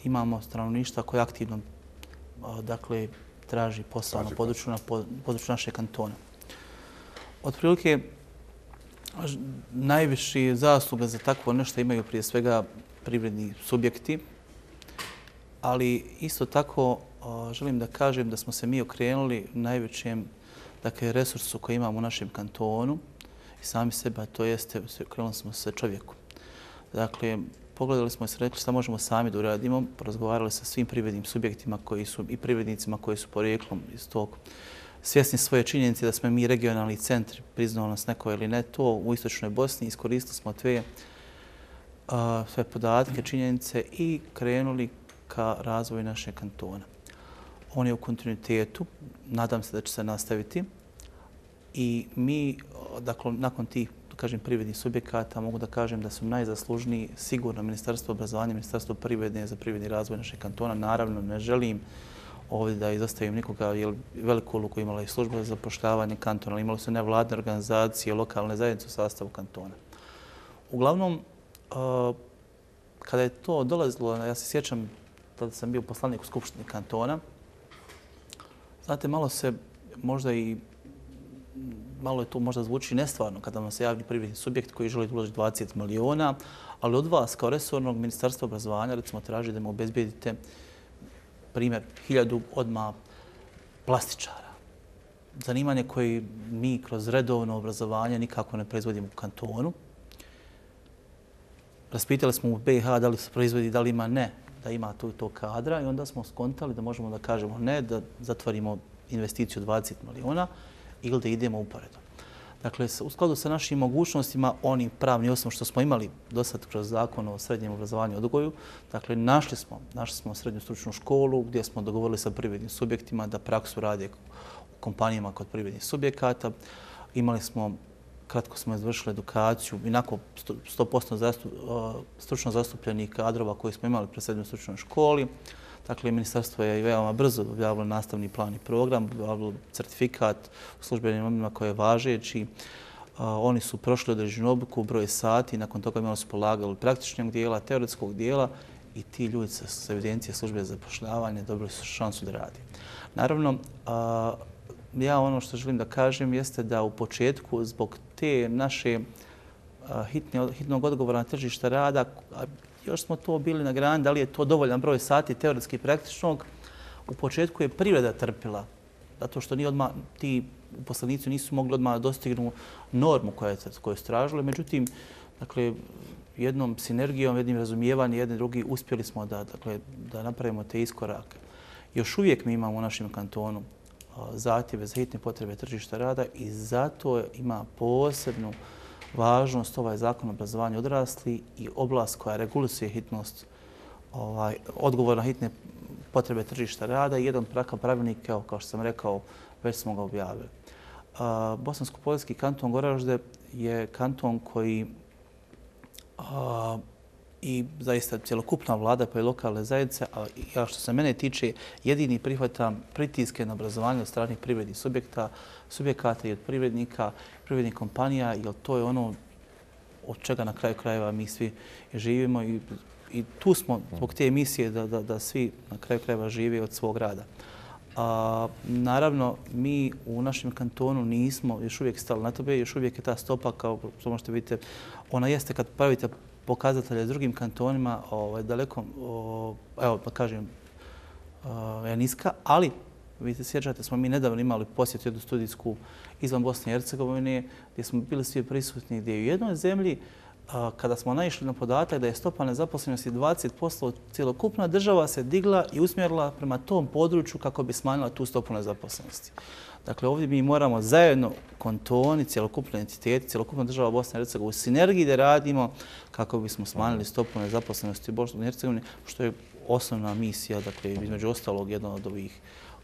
Speaker 5: imamo stanovništva koje aktivno dakle, traži posao na području, na području našeg kantona. Otprilike, najviše zasluge za takvo nešto imaju prije svega privredni subjekti ali isto tako želim da kažem da smo se mi okrenuli najvećem dakle, resursu koji imamo u našem kantonu i sami sebe, a to jeste, okrenuli smo se čovjeku. Dakle, pogledali smo i se rekli šta možemo sami da uradimo, porazgovarali sa svim privrednim subjektima koji su i privrednicima koji su porijeklom iz tog svjesni svoje činjenice da smo mi regionalni centri, priznao nas neko ili ne to, u istočnoj Bosni, iskoristili smo sve, uh, sve podatke, činjenice i krenuli ka razvoju našeg kantona. On je u kontinuitetu, nadam se da će se nastaviti i mi, dakle, nakon tih da kažem, privrednih subjekata, mogu da kažem da su najzaslužniji sigurno Ministarstvo obrazovanja, Ministarstvo privrede za privredni razvoj našeg kantona. Naravno, ne želim ovdje da izostavim nikoga, jer veliku ulogu imala i služba za zapošljavanje kantona, imali su nevladne organizacije, lokalne zajednice u sastavu kantona. Uglavnom, kada je to dolazilo, ja se sjećam da sam bio poslanik u Skupštini kantona, znate, malo se možda i malo je to možda zvuči nestvarno kada vam se javi privredni subjekt koji želi uložiti dvadeset miliona, ali od vas kao resornog Ministarstva obrazovanja recimo traži da mu obezbijedite primjer hiljadu odmah plastičara. Zanimanje koje mi kroz redovno obrazovanje nikako ne proizvodimo u kantonu. Raspitali smo u B i H da li se proizvodi, da li ima ne, da ima tu to kadra i onda smo skontali da možemo da kažemo ne, da zatvorimo investiciju dvadeset miliona ili da idemo uporedo. Dakle, u skladu sa našim mogućnostima, onim pravni osnov što smo imali do sad kroz zakon o srednjem obrazovanju i odgoju, dakle, našli smo, našli smo srednju stručnu školu gdje smo dogovorili sa privrednim subjektima da praksu rade u kompanijama kod privrednih subjekata. Imali smo, kratko smo izvršili edukaciju, inako sto posto zastup, stručno zastupljenih kadrova koji smo imali pred srednjoj stručnoj školi. Dakle, ministarstvo je veoma brzo objavilo nastavni plan i program, objavilo certifikat u službenim omima koji je važeći. Oni su prošli određenu obuku, broj sati, nakon toga imali su polagali praktičnog dijela, teoretskog dijela i ti ljudi sa evidencije službe za zapošljavanje dobili su šansu da radi. Naravno, ja ono što želim da kažem jeste da u početku zbog te naše hitne, hitnog odgovora na tržište rada, još smo to bili na grani, da li je to dovoljan broj sati teoretski i praktičnog. U početku je privreda trpila, zato što ni odmah, ti uposlenici nisu mogli odmah dostignu normu koju su tražili. Međutim, dakle, jednom sinergijom, jednim razumijevanjem, jedni drugi, uspjeli smo da, dakle, da napravimo te iskorake. Još uvijek mi imamo u našem kantonu zahtjeve za hitne potrebe tržišta rada i zato ima posebnu važnost ovaj zakon o obrazovanju odrasli i oblast koja regulisuje hitnost, ovaj, odgovor na hitne potrebe tržišta rada i jedan prakav pravilnik, kao, kao što sam rekao, već smo ga objavili. A, Bosansko-poljski kanton Goražde je kanton koji a, i zaista cjelokupna vlada pa i lokalne zajednice, a ja što se mene tiče, jedini prihvatam pritiske na obrazovanje od stranih privrednih subjekta, subjekata i od privrednika, privrednih kompanija, jer to je ono od čega na kraju krajeva mi svi živimo i, i tu smo zbog te emisije da, da, da svi na kraju krajeva žive od svog rada. A, naravno, mi u našem kantonu nismo još uvijek stali na tobe, još uvijek je ta stopa, kao što možete vidjeti, ona jeste kad pravite pokazatelje s drugim kantonima ovaj, daleko, o, evo pa kažem, o, je niska, ali vi se sjećate, smo mi nedavno imali posjet jednu studijsku izvan Bosne i Hercegovine, gdje smo bili svi prisutni, gdje u jednoj zemlji, a, kada smo naišli na podatak da je stopa nezaposlenosti dvadeset posto, cjelokupna država se digla i usmjerila prema tom području kako bi smanjila tu stopu nezaposlenosti. Dakle, ovdje mi moramo zajedno kantoni, cjelokupne entiteti, cjelokupna država Bosne i Hercegovine u sinergiji da radimo kako bismo smanjili stopu nezaposlenosti u Bosni i Hercegovini, što je osnovna misija, dakle, između ostalog, jedna od ovih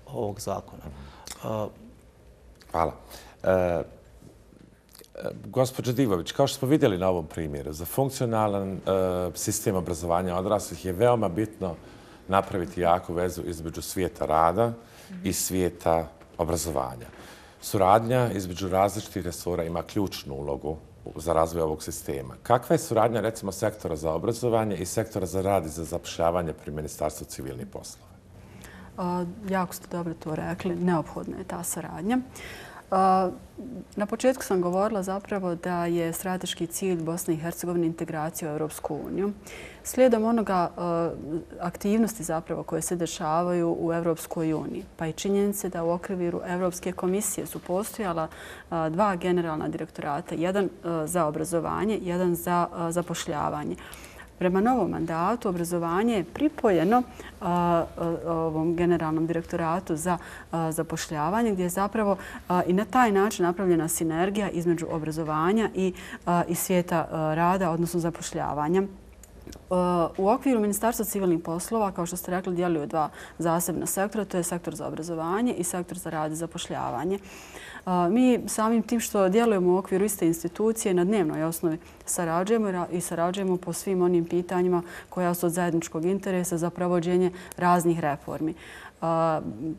Speaker 5: ovog zakona. Uh,
Speaker 2: Hvala. E, Gospođo Divović, kao što smo vidjeli na ovom primjeru, za funkcionalan e, sistem obrazovanja odraslih je veoma bitno napraviti jaku vezu između svijeta rada i svijeta obrazovanja. Suradnja između različitih resora ima ključnu ulogu za razvoj ovog sistema. Kakva je suradnja, recimo, sektora za obrazovanje i sektora za rad i za zapošljavanje pri Ministarstvu civilnih poslova?
Speaker 4: Uh, jako ste dobro to rekli. Neophodna je ta saradnja. Na početku sam govorila zapravo da je strateški cilj Bosne i Hercegovine integracija u Europsku uniju. Slijedom onoga aktivnosti zapravo koje se dešavaju u Europskoj uniji, pa i činjenice da u okviru Europske komisije su postojala dva generalna direktorata, jedan za obrazovanje, jedan za zapošljavanje. Prema novom mandatu obrazovanje je pripojeno ovom generalnom direktoratu za zapošljavanje, gdje je zapravo i na taj način napravljena sinergija između obrazovanja i svijeta rada, odnosno zapošljavanja. U okviru Ministarstva civilnih poslova, kao što ste rekli, djeluju dva zasebna sektora, to je sektor za obrazovanje i sektor za rad i zapošljavanje. Mi samim tim što djelujemo u okviru iste institucije na dnevnoj osnovi sarađujemo i sarađujemo po svim onim pitanjima koja su od zajedničkog interesa za provođenje raznih reformi.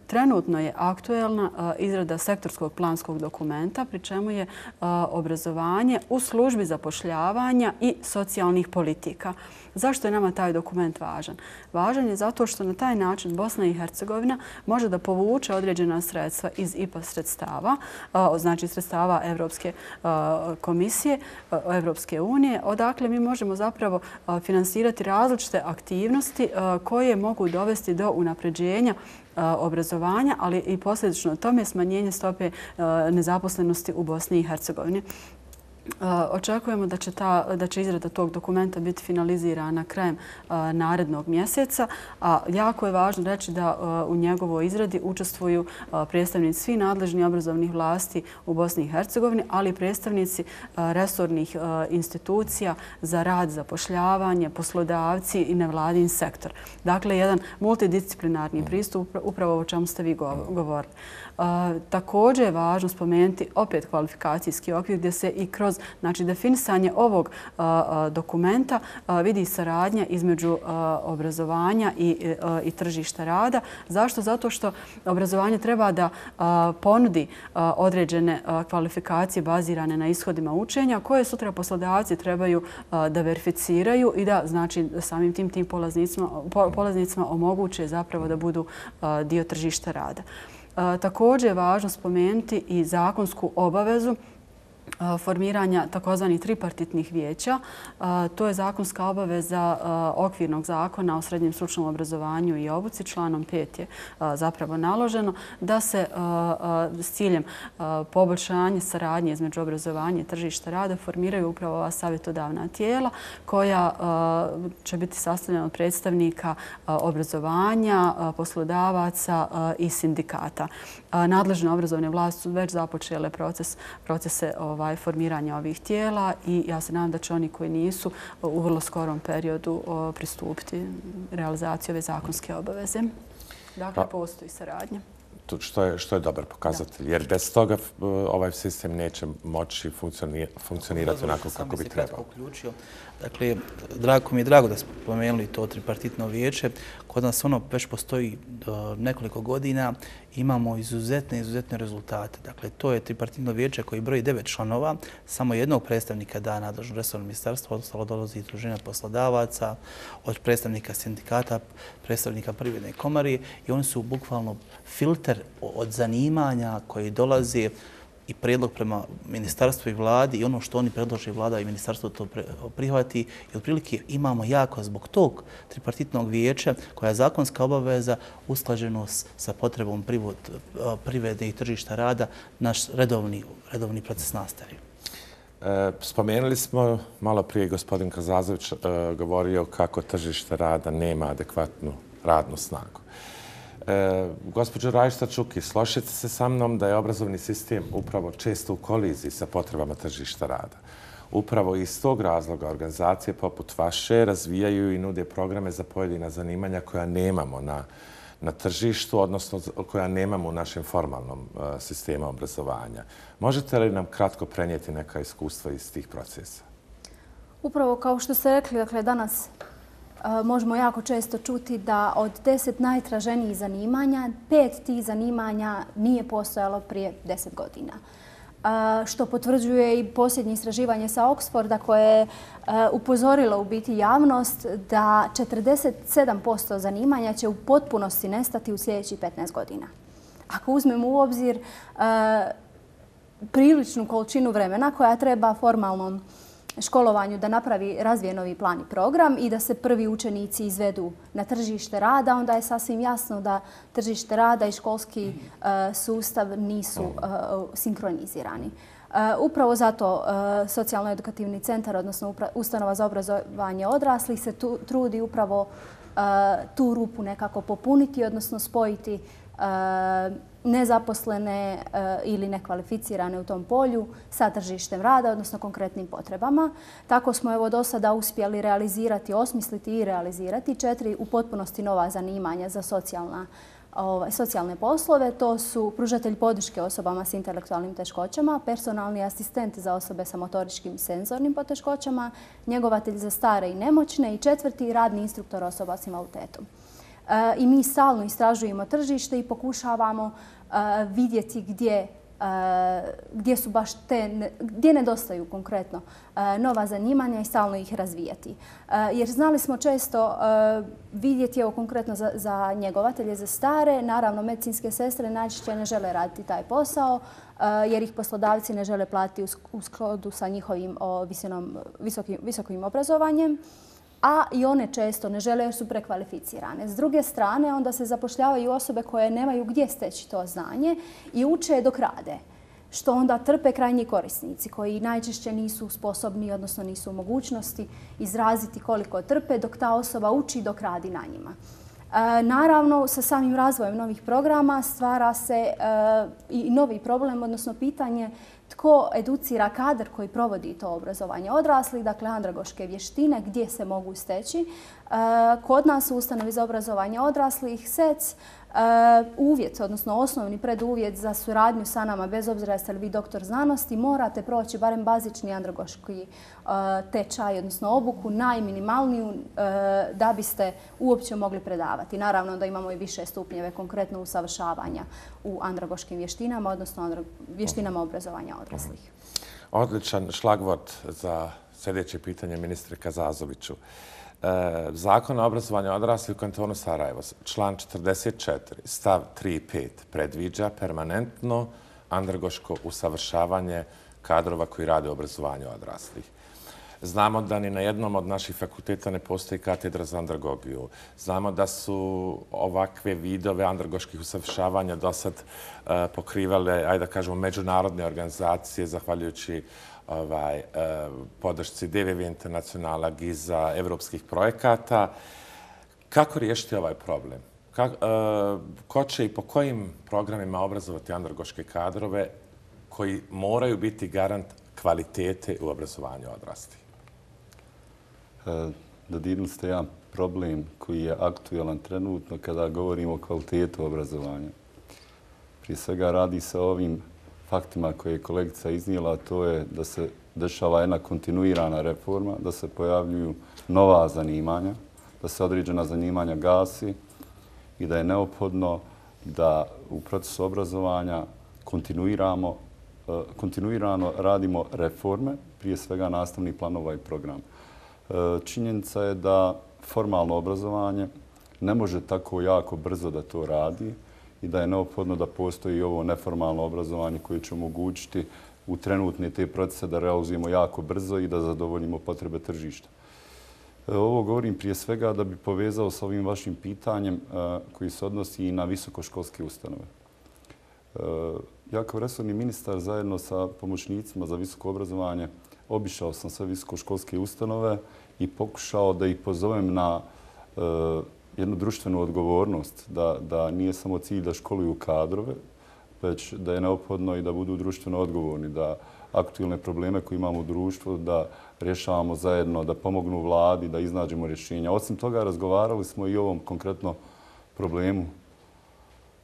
Speaker 4: Trenutno je aktuelna izrada sektorskog planskog dokumenta, pri čemu je obrazovanje u službi zapošljavanja i socijalnih politika. Zašto je nama taj dokument važan? Važan je zato što na taj način Bosna i Hercegovina može da povuče određena sredstva iz I P A sredstava, znači sredstava Evropske komisije, Evropske unije, odakle mi možemo zapravo finansirati različite aktivnosti koje mogu dovesti do unapređenja obrazovanja, ali i posljedično tome smanjenje stope nezaposlenosti u Bosni i Hercegovini. Očekujemo da će, ta, da će izrada tog dokumenta biti finalizirana krajem narednog mjeseca, a jako je važno reći da u njegovoj izradi učestvuju predstavnici svih nadležnih obrazovnih vlasti u Bosni i Hercegovini, ali i predstavnici resornih institucija za rad, zapošljavanje, poslodavci i nevladin sektor. Dakle, jedan multidisciplinarni pristup, upravo o čemu ste vi govorili. Također je važno spomenuti opet kvalifikacijski okvir gdje se i kroz znači, definisanje ovog dokumenta vidi saradnja između obrazovanja i, i tržišta rada. Zašto? Zato što obrazovanje treba da ponudi određene kvalifikacije bazirane na ishodima učenja koje sutra poslodavci trebaju da verificiraju i da znači, samim tim tim polaznicima, polaznicima omoguće zapravo da budu dio tržišta rada. Također je važno spomenuti i zakonsku obavezu formiranja takozvanih tripartitnih vijeća. To je zakonska obaveza okvirnog zakona o srednjem stručnom obrazovanju i obuci. Članom pet je zapravo naloženo da se s ciljem poboljšanja saradnje između obrazovanja i tržišta rada formiraju upravo ova savjetodavna tijela koja će biti sastavljena od predstavnika obrazovanja, poslodavaca i sindikata. Nadležne obrazovne vlasti su već započele proces, procese ovaj, formiranja ovih tijela i ja se nadam da će oni koji nisu u vrlo skorom periodu pristupiti realizaciji ove zakonske obaveze. Dakle, postoji saradnja.
Speaker 2: Što je, što je dobar pokazatelj, jer bez toga ovaj sistem neće moći funkcionirati onako kako bi trebao.
Speaker 5: Dakle, drago mi je drago da smo pomenuli to tripartitno vijeće. Kod nas ono već postoji nekoliko godina. Imamo izuzetne, izuzetne rezultate. Dakle, to je tripartitno vijeće koji broji devet članova. Samo jednog predstavnika da nadležno resorno ministarstvo, ostalo dolazi iz udruženja poslodavaca, od predstavnika sindikata, predstavnika privredne komore i oni su bukvalno filter od zanimanja koji dolaze i prijedlog prema ministarstvu i vladi i ono što oni predlože vlada i ministarstvo to prihvati. I otprilike imamo jako zbog tog tripartitnog vijeća koja je zakonska obaveza usklađenost sa potrebom privrede i tržišta rada naš redovni, redovni proces nastave.
Speaker 2: E, spomenuli smo, malo prije gospodin Kazazović e, govorio kako tržište rada nema adekvatnu radnu snagu. E, gospođo Rajšta-Čuki, složite se sa mnom da je obrazovni sistem upravo često u koliziji sa potrebama tržišta rada. Upravo iz tog razloga organizacije poput vaše razvijaju i nude programe za pojedina zanimanja koja nemamo na, na tržištu, odnosno koja nemamo u našem formalnom uh, sistemu obrazovanja. Možete li nam kratko prenijeti neka iskustva iz tih procesa?
Speaker 3: Upravo kao što ste rekli, dakle, danas možemo jako često čuti da od deset najtraženijih zanimanja, pet tih zanimanja nije postojalo prije deset godina. Što potvrđuje i posljednje istraživanje sa Oxforda koje je upozorilo u biti javnost da četrdeset sedam posto zanimanja će u potpunosti nestati u sljedećih petnaest godina. Ako uzmemo u obzir priličnu količinu vremena koja treba formalnom školovanju da napravi razvije novi plan i program i da se prvi učenici izvedu na tržište rada, onda je sasvim jasno da tržište rada i školski uh, sustav nisu uh, sinkronizirani. Uh, upravo zato uh, Socijalno-edukativni centar, odnosno ustanova za obrazovanje odraslih, se tu, trudi upravo uh, tu rupu nekako popuniti, odnosno spojiti uh, nezaposlene uh, ili nekvalificirane u tom polju sa tržištem rada, odnosno konkretnim potrebama. Tako smo evo do sada uspjeli realizirati, osmisliti i realizirati četiri u potpunosti nova zanimanja za socijalna Ovaj, socijalne poslove. To su pružatelj podrške osobama s intelektualnim teškoćama, personalni asistent za osobe sa motoričkim i senzornim poteškoćama, njegovatelj za stare i nemoćne i četvrti radni instruktor osoba s invaliditetom. E, I mi stalno istražujemo tržište i pokušavamo e, vidjeti gdje gdje su baš te, gdje nedostaju konkretno nova zanimanja i stalno ih razvijati. Jer znali smo često vidjeti, evo konkretno za, za njegovatelje, za stare, naravno medicinske sestre najčešće ne žele raditi taj posao jer ih poslodavci ne žele platiti u skladu sa njihovim visinom, visokim, visokim obrazovanjem. A i one često ne žele jer su prekvalificirane. S druge strane, onda se zapošljavaju osobe koje nemaju gdje steći to znanje i uče dok rade, što onda trpe krajnji korisnici koji najčešće nisu sposobni, odnosno nisu u mogućnosti izraziti koliko trpe dok ta osoba uči dok radi na njima. E, naravno, sa samim razvojem novih programa stvara se e, i novi problem, odnosno pitanje tko educira kadar koji provodi to obrazovanje odraslih, dakle andragoške vještine, gdje se mogu steći. Kod nas u ustanovi za obrazovanje odraslih S E C uvjet, odnosno osnovni preduvjet za suradnju sa nama, bez obzira jeste li vi doktor znanosti, morate proći barem bazični andragoški tečaj, odnosno obuku, najminimalniju da biste uopće mogli predavati. Naravno da imamo i više stupnjeve konkretno usavršavanja u andragoškim vještinama, odnosno vještinama obrazovanja odraslih.
Speaker 2: Odličan šlagvort za sljedeće pitanje ministre Kazazoviću. Zakon o obrazovanju odraslih u kantonu Sarajevo, član četrdeset četiri, stav tri i pet, predviđa permanentno andragoško usavršavanje kadrova koji rade u obrazovanju odraslih. Znamo da ni na jednom od naših fakulteta ne postoji katedra za andragogiju. Znamo da su ovakve vidove andragoških usavršavanja do sad uh, pokrivale, ajde da kažemo, međunarodne organizacije, zahvaljujući ovaj, uh, podršci D V V Internacionala, Giza, evropskih projekata. Kako riješiti ovaj problem? Kako, uh, ko će i po kojim programima obrazovati andragoške kadrove koji moraju biti garant kvalitete u obrazovanju odraslih?
Speaker 6: Dodirnuli ste jedan problem koji je aktualan trenutno kada govorimo o kvalitetu obrazovanja. Prije svega radi se o ovim faktima koje je kolegica iznijela, to je da se dešava jedna kontinuirana reforma, da se pojavljuju nova zanimanja, da se određena zanimanja gasi i da je neophodno da u procesu obrazovanja kontinuiramo, kontinuirano radimo reforme, prije svega nastavnih planova i programa. Činjenica je da formalno obrazovanje ne može tako jako brzo da to radi i da je neophodno da postoji ovo neformalno obrazovanje koje će omogućiti u trenutne te procese da realizujemo jako brzo i da zadovoljimo potrebe tržišta. Ovo govorim prije svega da bi povezao sa ovim vašim pitanjem koji se odnosi i na visokoškolske ustanove. Ja kao resorni ministar zajedno sa pomoćnicima za visoko obrazovanje obišao sam sve visokoškolske ustanove i pokušao da ih pozovem na uh, jednu društvenu odgovornost, da, da nije samo cilj da školuju kadrove, već da je neophodno i da budu društveno odgovorni, da aktualne probleme koje imamo u društvu, da rješavamo zajedno, da pomognu vladi, da iznađemo rješenja. Osim toga, razgovarali smo i o ovom konkretno problemu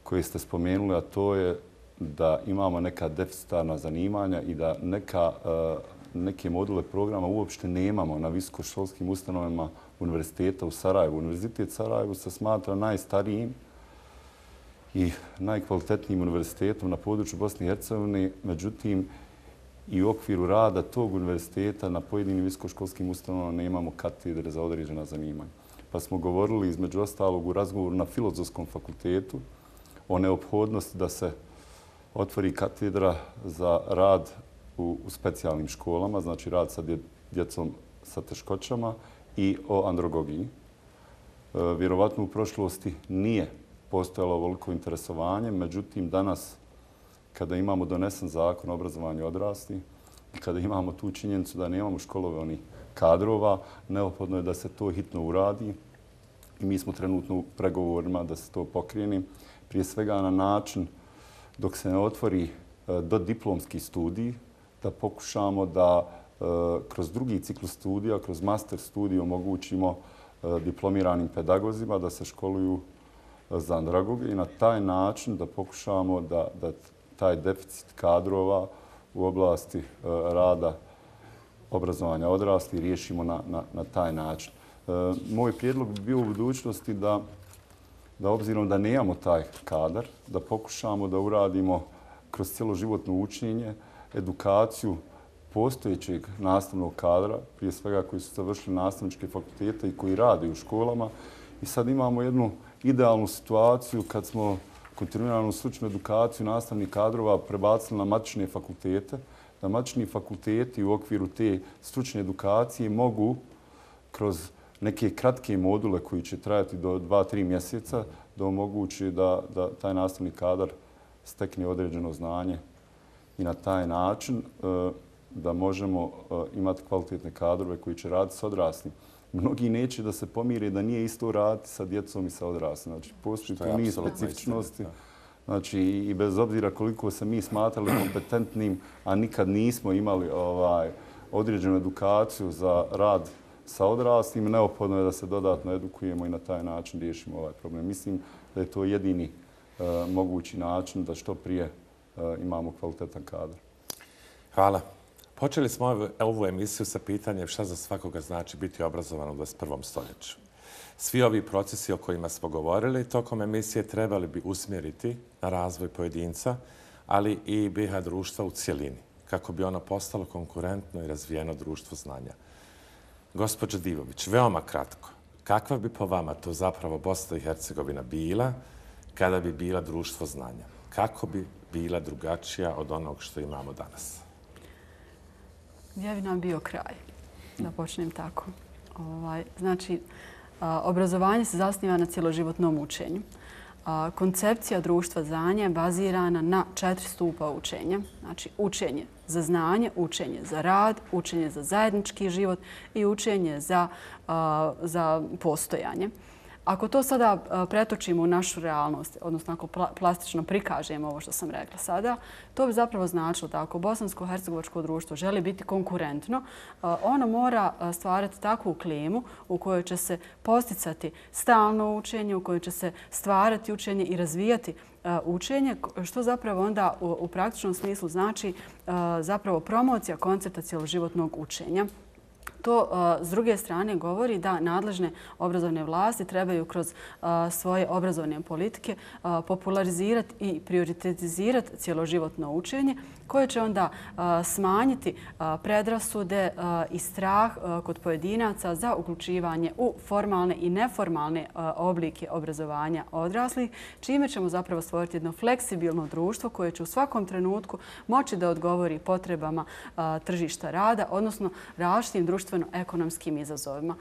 Speaker 6: koji ste spomenuli, a to je da imamo neka deficitarna zanimanja i da neka uh, neke module programa uopšte nemamo na visokoškolskim ustanovama univerziteta u Sarajevu. Univerzitet Sarajevo se smatra najstarijim i najkvalitetnijim univerzitetom na području Bosne i Hercegovine. Međutim, i u okviru rada tog univerziteta na pojedinim visokoškolskim ustanovama nemamo katedre za određena zanimanja. Pa smo govorili između ostalog u razgovoru na Filozofskom fakultetu o neophodnosti da se otvori katedra za rad u, u specijalnim školama, znači rad sa dje, djecom sa teškoćama i o androgogiji. E, vjerovatno u prošlosti nije postojalo ovoliko interesovanje, međutim danas kada imamo donesen zakon o obrazovanju odraslih i kada imamo tu činjenicu da nemamo školovani kadrova, neophodno je da se to hitno uradi i mi smo trenutno u pregovorima da se to pokrene. Prije svega na način dok se ne otvori dodiplomski studij, da pokušamo da kroz drugi ciklus studija, kroz master studij omogućimo diplomiranim pedagozima da se školuju za andragoge i na taj način da pokušamo da, da taj deficit kadrova u oblasti rada obrazovanja odraslih riješimo na, na, na taj način. E, moj prijedlog bi bio u budućnosti da, da obzirom da nemamo taj kadar, da pokušamo da uradimo kroz cjeloživotno učenje, edukaciju postojećeg nastavnog kadra, prije svega koji su završili nastavničke fakultete i koji rade u školama. I sad imamo jednu idealnu situaciju kad smo kontinuiranu stručnu edukaciju nastavnih kadrova prebacili na matične fakultete, da matični fakulteti u okviru te stručne edukacije mogu kroz neke kratke module koji će trajati do dva do tri mjeseca da omogući da, da taj nastavni kadar stekne određeno znanje i na taj način e, da možemo e, imati kvalitetne kadrove koji će raditi s odraslim. Mnogi neće da se pomire da nije isto raditi sa djecom i sa odraslim. Znači, postoji tu niz specifičnosti. Znači, i bez obzira koliko se mi smatrali kompetentnim, a nikad nismo imali ovaj, određenu edukaciju za rad sa odraslim, neophodno je da se dodatno edukujemo i na taj način riješimo ovaj problem. Mislim da je to jedini uh, mogući način da što prije uh, imamo kvalitetan kadar.
Speaker 2: Hvala. Počeli smo ovu, ovu emisiju sa pitanjem šta za svakoga znači biti obrazovan u dvadeset prvom stoljeću. Svi ovi procesi o kojima smo govorili tokom emisije trebali bi usmjeriti na razvoj pojedinca, ali i B i H društva u cjelini, kako bi ono postalo konkurentno i razvijeno društvo znanja. Gospođo Divović, veoma kratko, kakva bi po vama to zapravo Bosna i Hercegovina bila kada bi bila društvo znanja? Kako bi bila drugačija od onog što imamo danas?
Speaker 4: Gdje bi nam bio kraj? Da počnem tako. Ovaj, znači, obrazovanje se zasniva na cjeloživotnom učenju. Koncepcija društva znanja je bazirana na četiri stupa učenja. Znači, učenje za znanje, učenje za rad, učenje za zajednički život i učenje za, za postojanje. Ako to sada pretočimo u našu realnost, odnosno ako plastično prikažemo ovo što sam rekla sada, to bi zapravo značilo da ako bosansko-hercegovačko društvo želi biti konkurentno, ono mora stvarati takvu klimu u kojoj će se posticati stalno učenje, u kojoj će se stvarati učenje i razvijati učenje, što zapravo onda u praktičnom smislu znači zapravo promocija koncepta cjeloživotnog učenja. To s druge strane govori da nadležne obrazovne vlasti trebaju kroz svoje obrazovne politike popularizirati i prioritizirati cjeloživotno učenje koje će onda smanjiti predrasude i strah kod pojedinaca za uključivanje u formalne i neformalne oblike obrazovanja odraslih, čime ćemo zapravo stvoriti jedno fleksibilno društvo koje će u svakom trenutku moći da odgovori potrebama tržišta rada, odnosno različitim društveno-ekonomskim izazovima.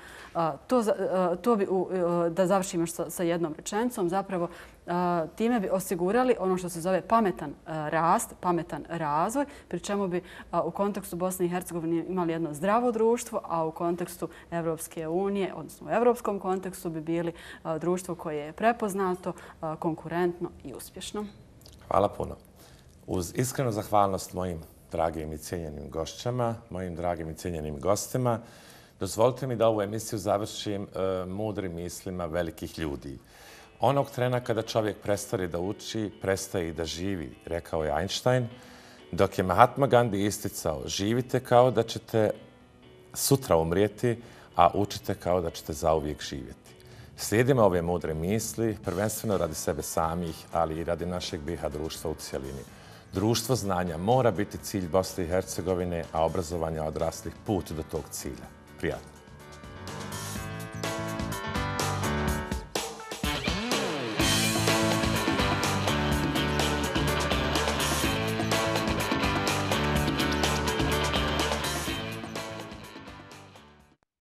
Speaker 4: To, to bi, da završim još sa jednom rečenicom, zapravo time bi osigurali ono što se zove pametan rast, pametan razvoj, pri čemu bi u kontekstu Bosne i Hercegovine imali jedno zdravo društvo, a u kontekstu Evropske unije, odnosno u evropskom kontekstu bi bili društvo koje je prepoznato, konkurentno i uspješno.
Speaker 2: Hvala puno. Uz iskrenu zahvalnost mojim dragim i cijenjenim gošćama, mojim dragim i cijenjenim gostima, dozvolite mi da ovu emisiju završim uh, mudrim mislima velikih ljudi. Onog trena kada čovjek prestane da uči, prestaje i da živi, rekao je Einstein, dok je Mahatma Gandhi isticao, živite kao da ćete sutra umrijeti, a učite kao da ćete zauvijek živjeti. Slijedimo ove mudre misli, prvenstveno radi sebe samih, ali i radi našeg B i H društva u cijelini. Društvo znanja mora biti cilj Bosne i Hercegovine, a obrazovanje odraslih put do tog cilja. Prijatno.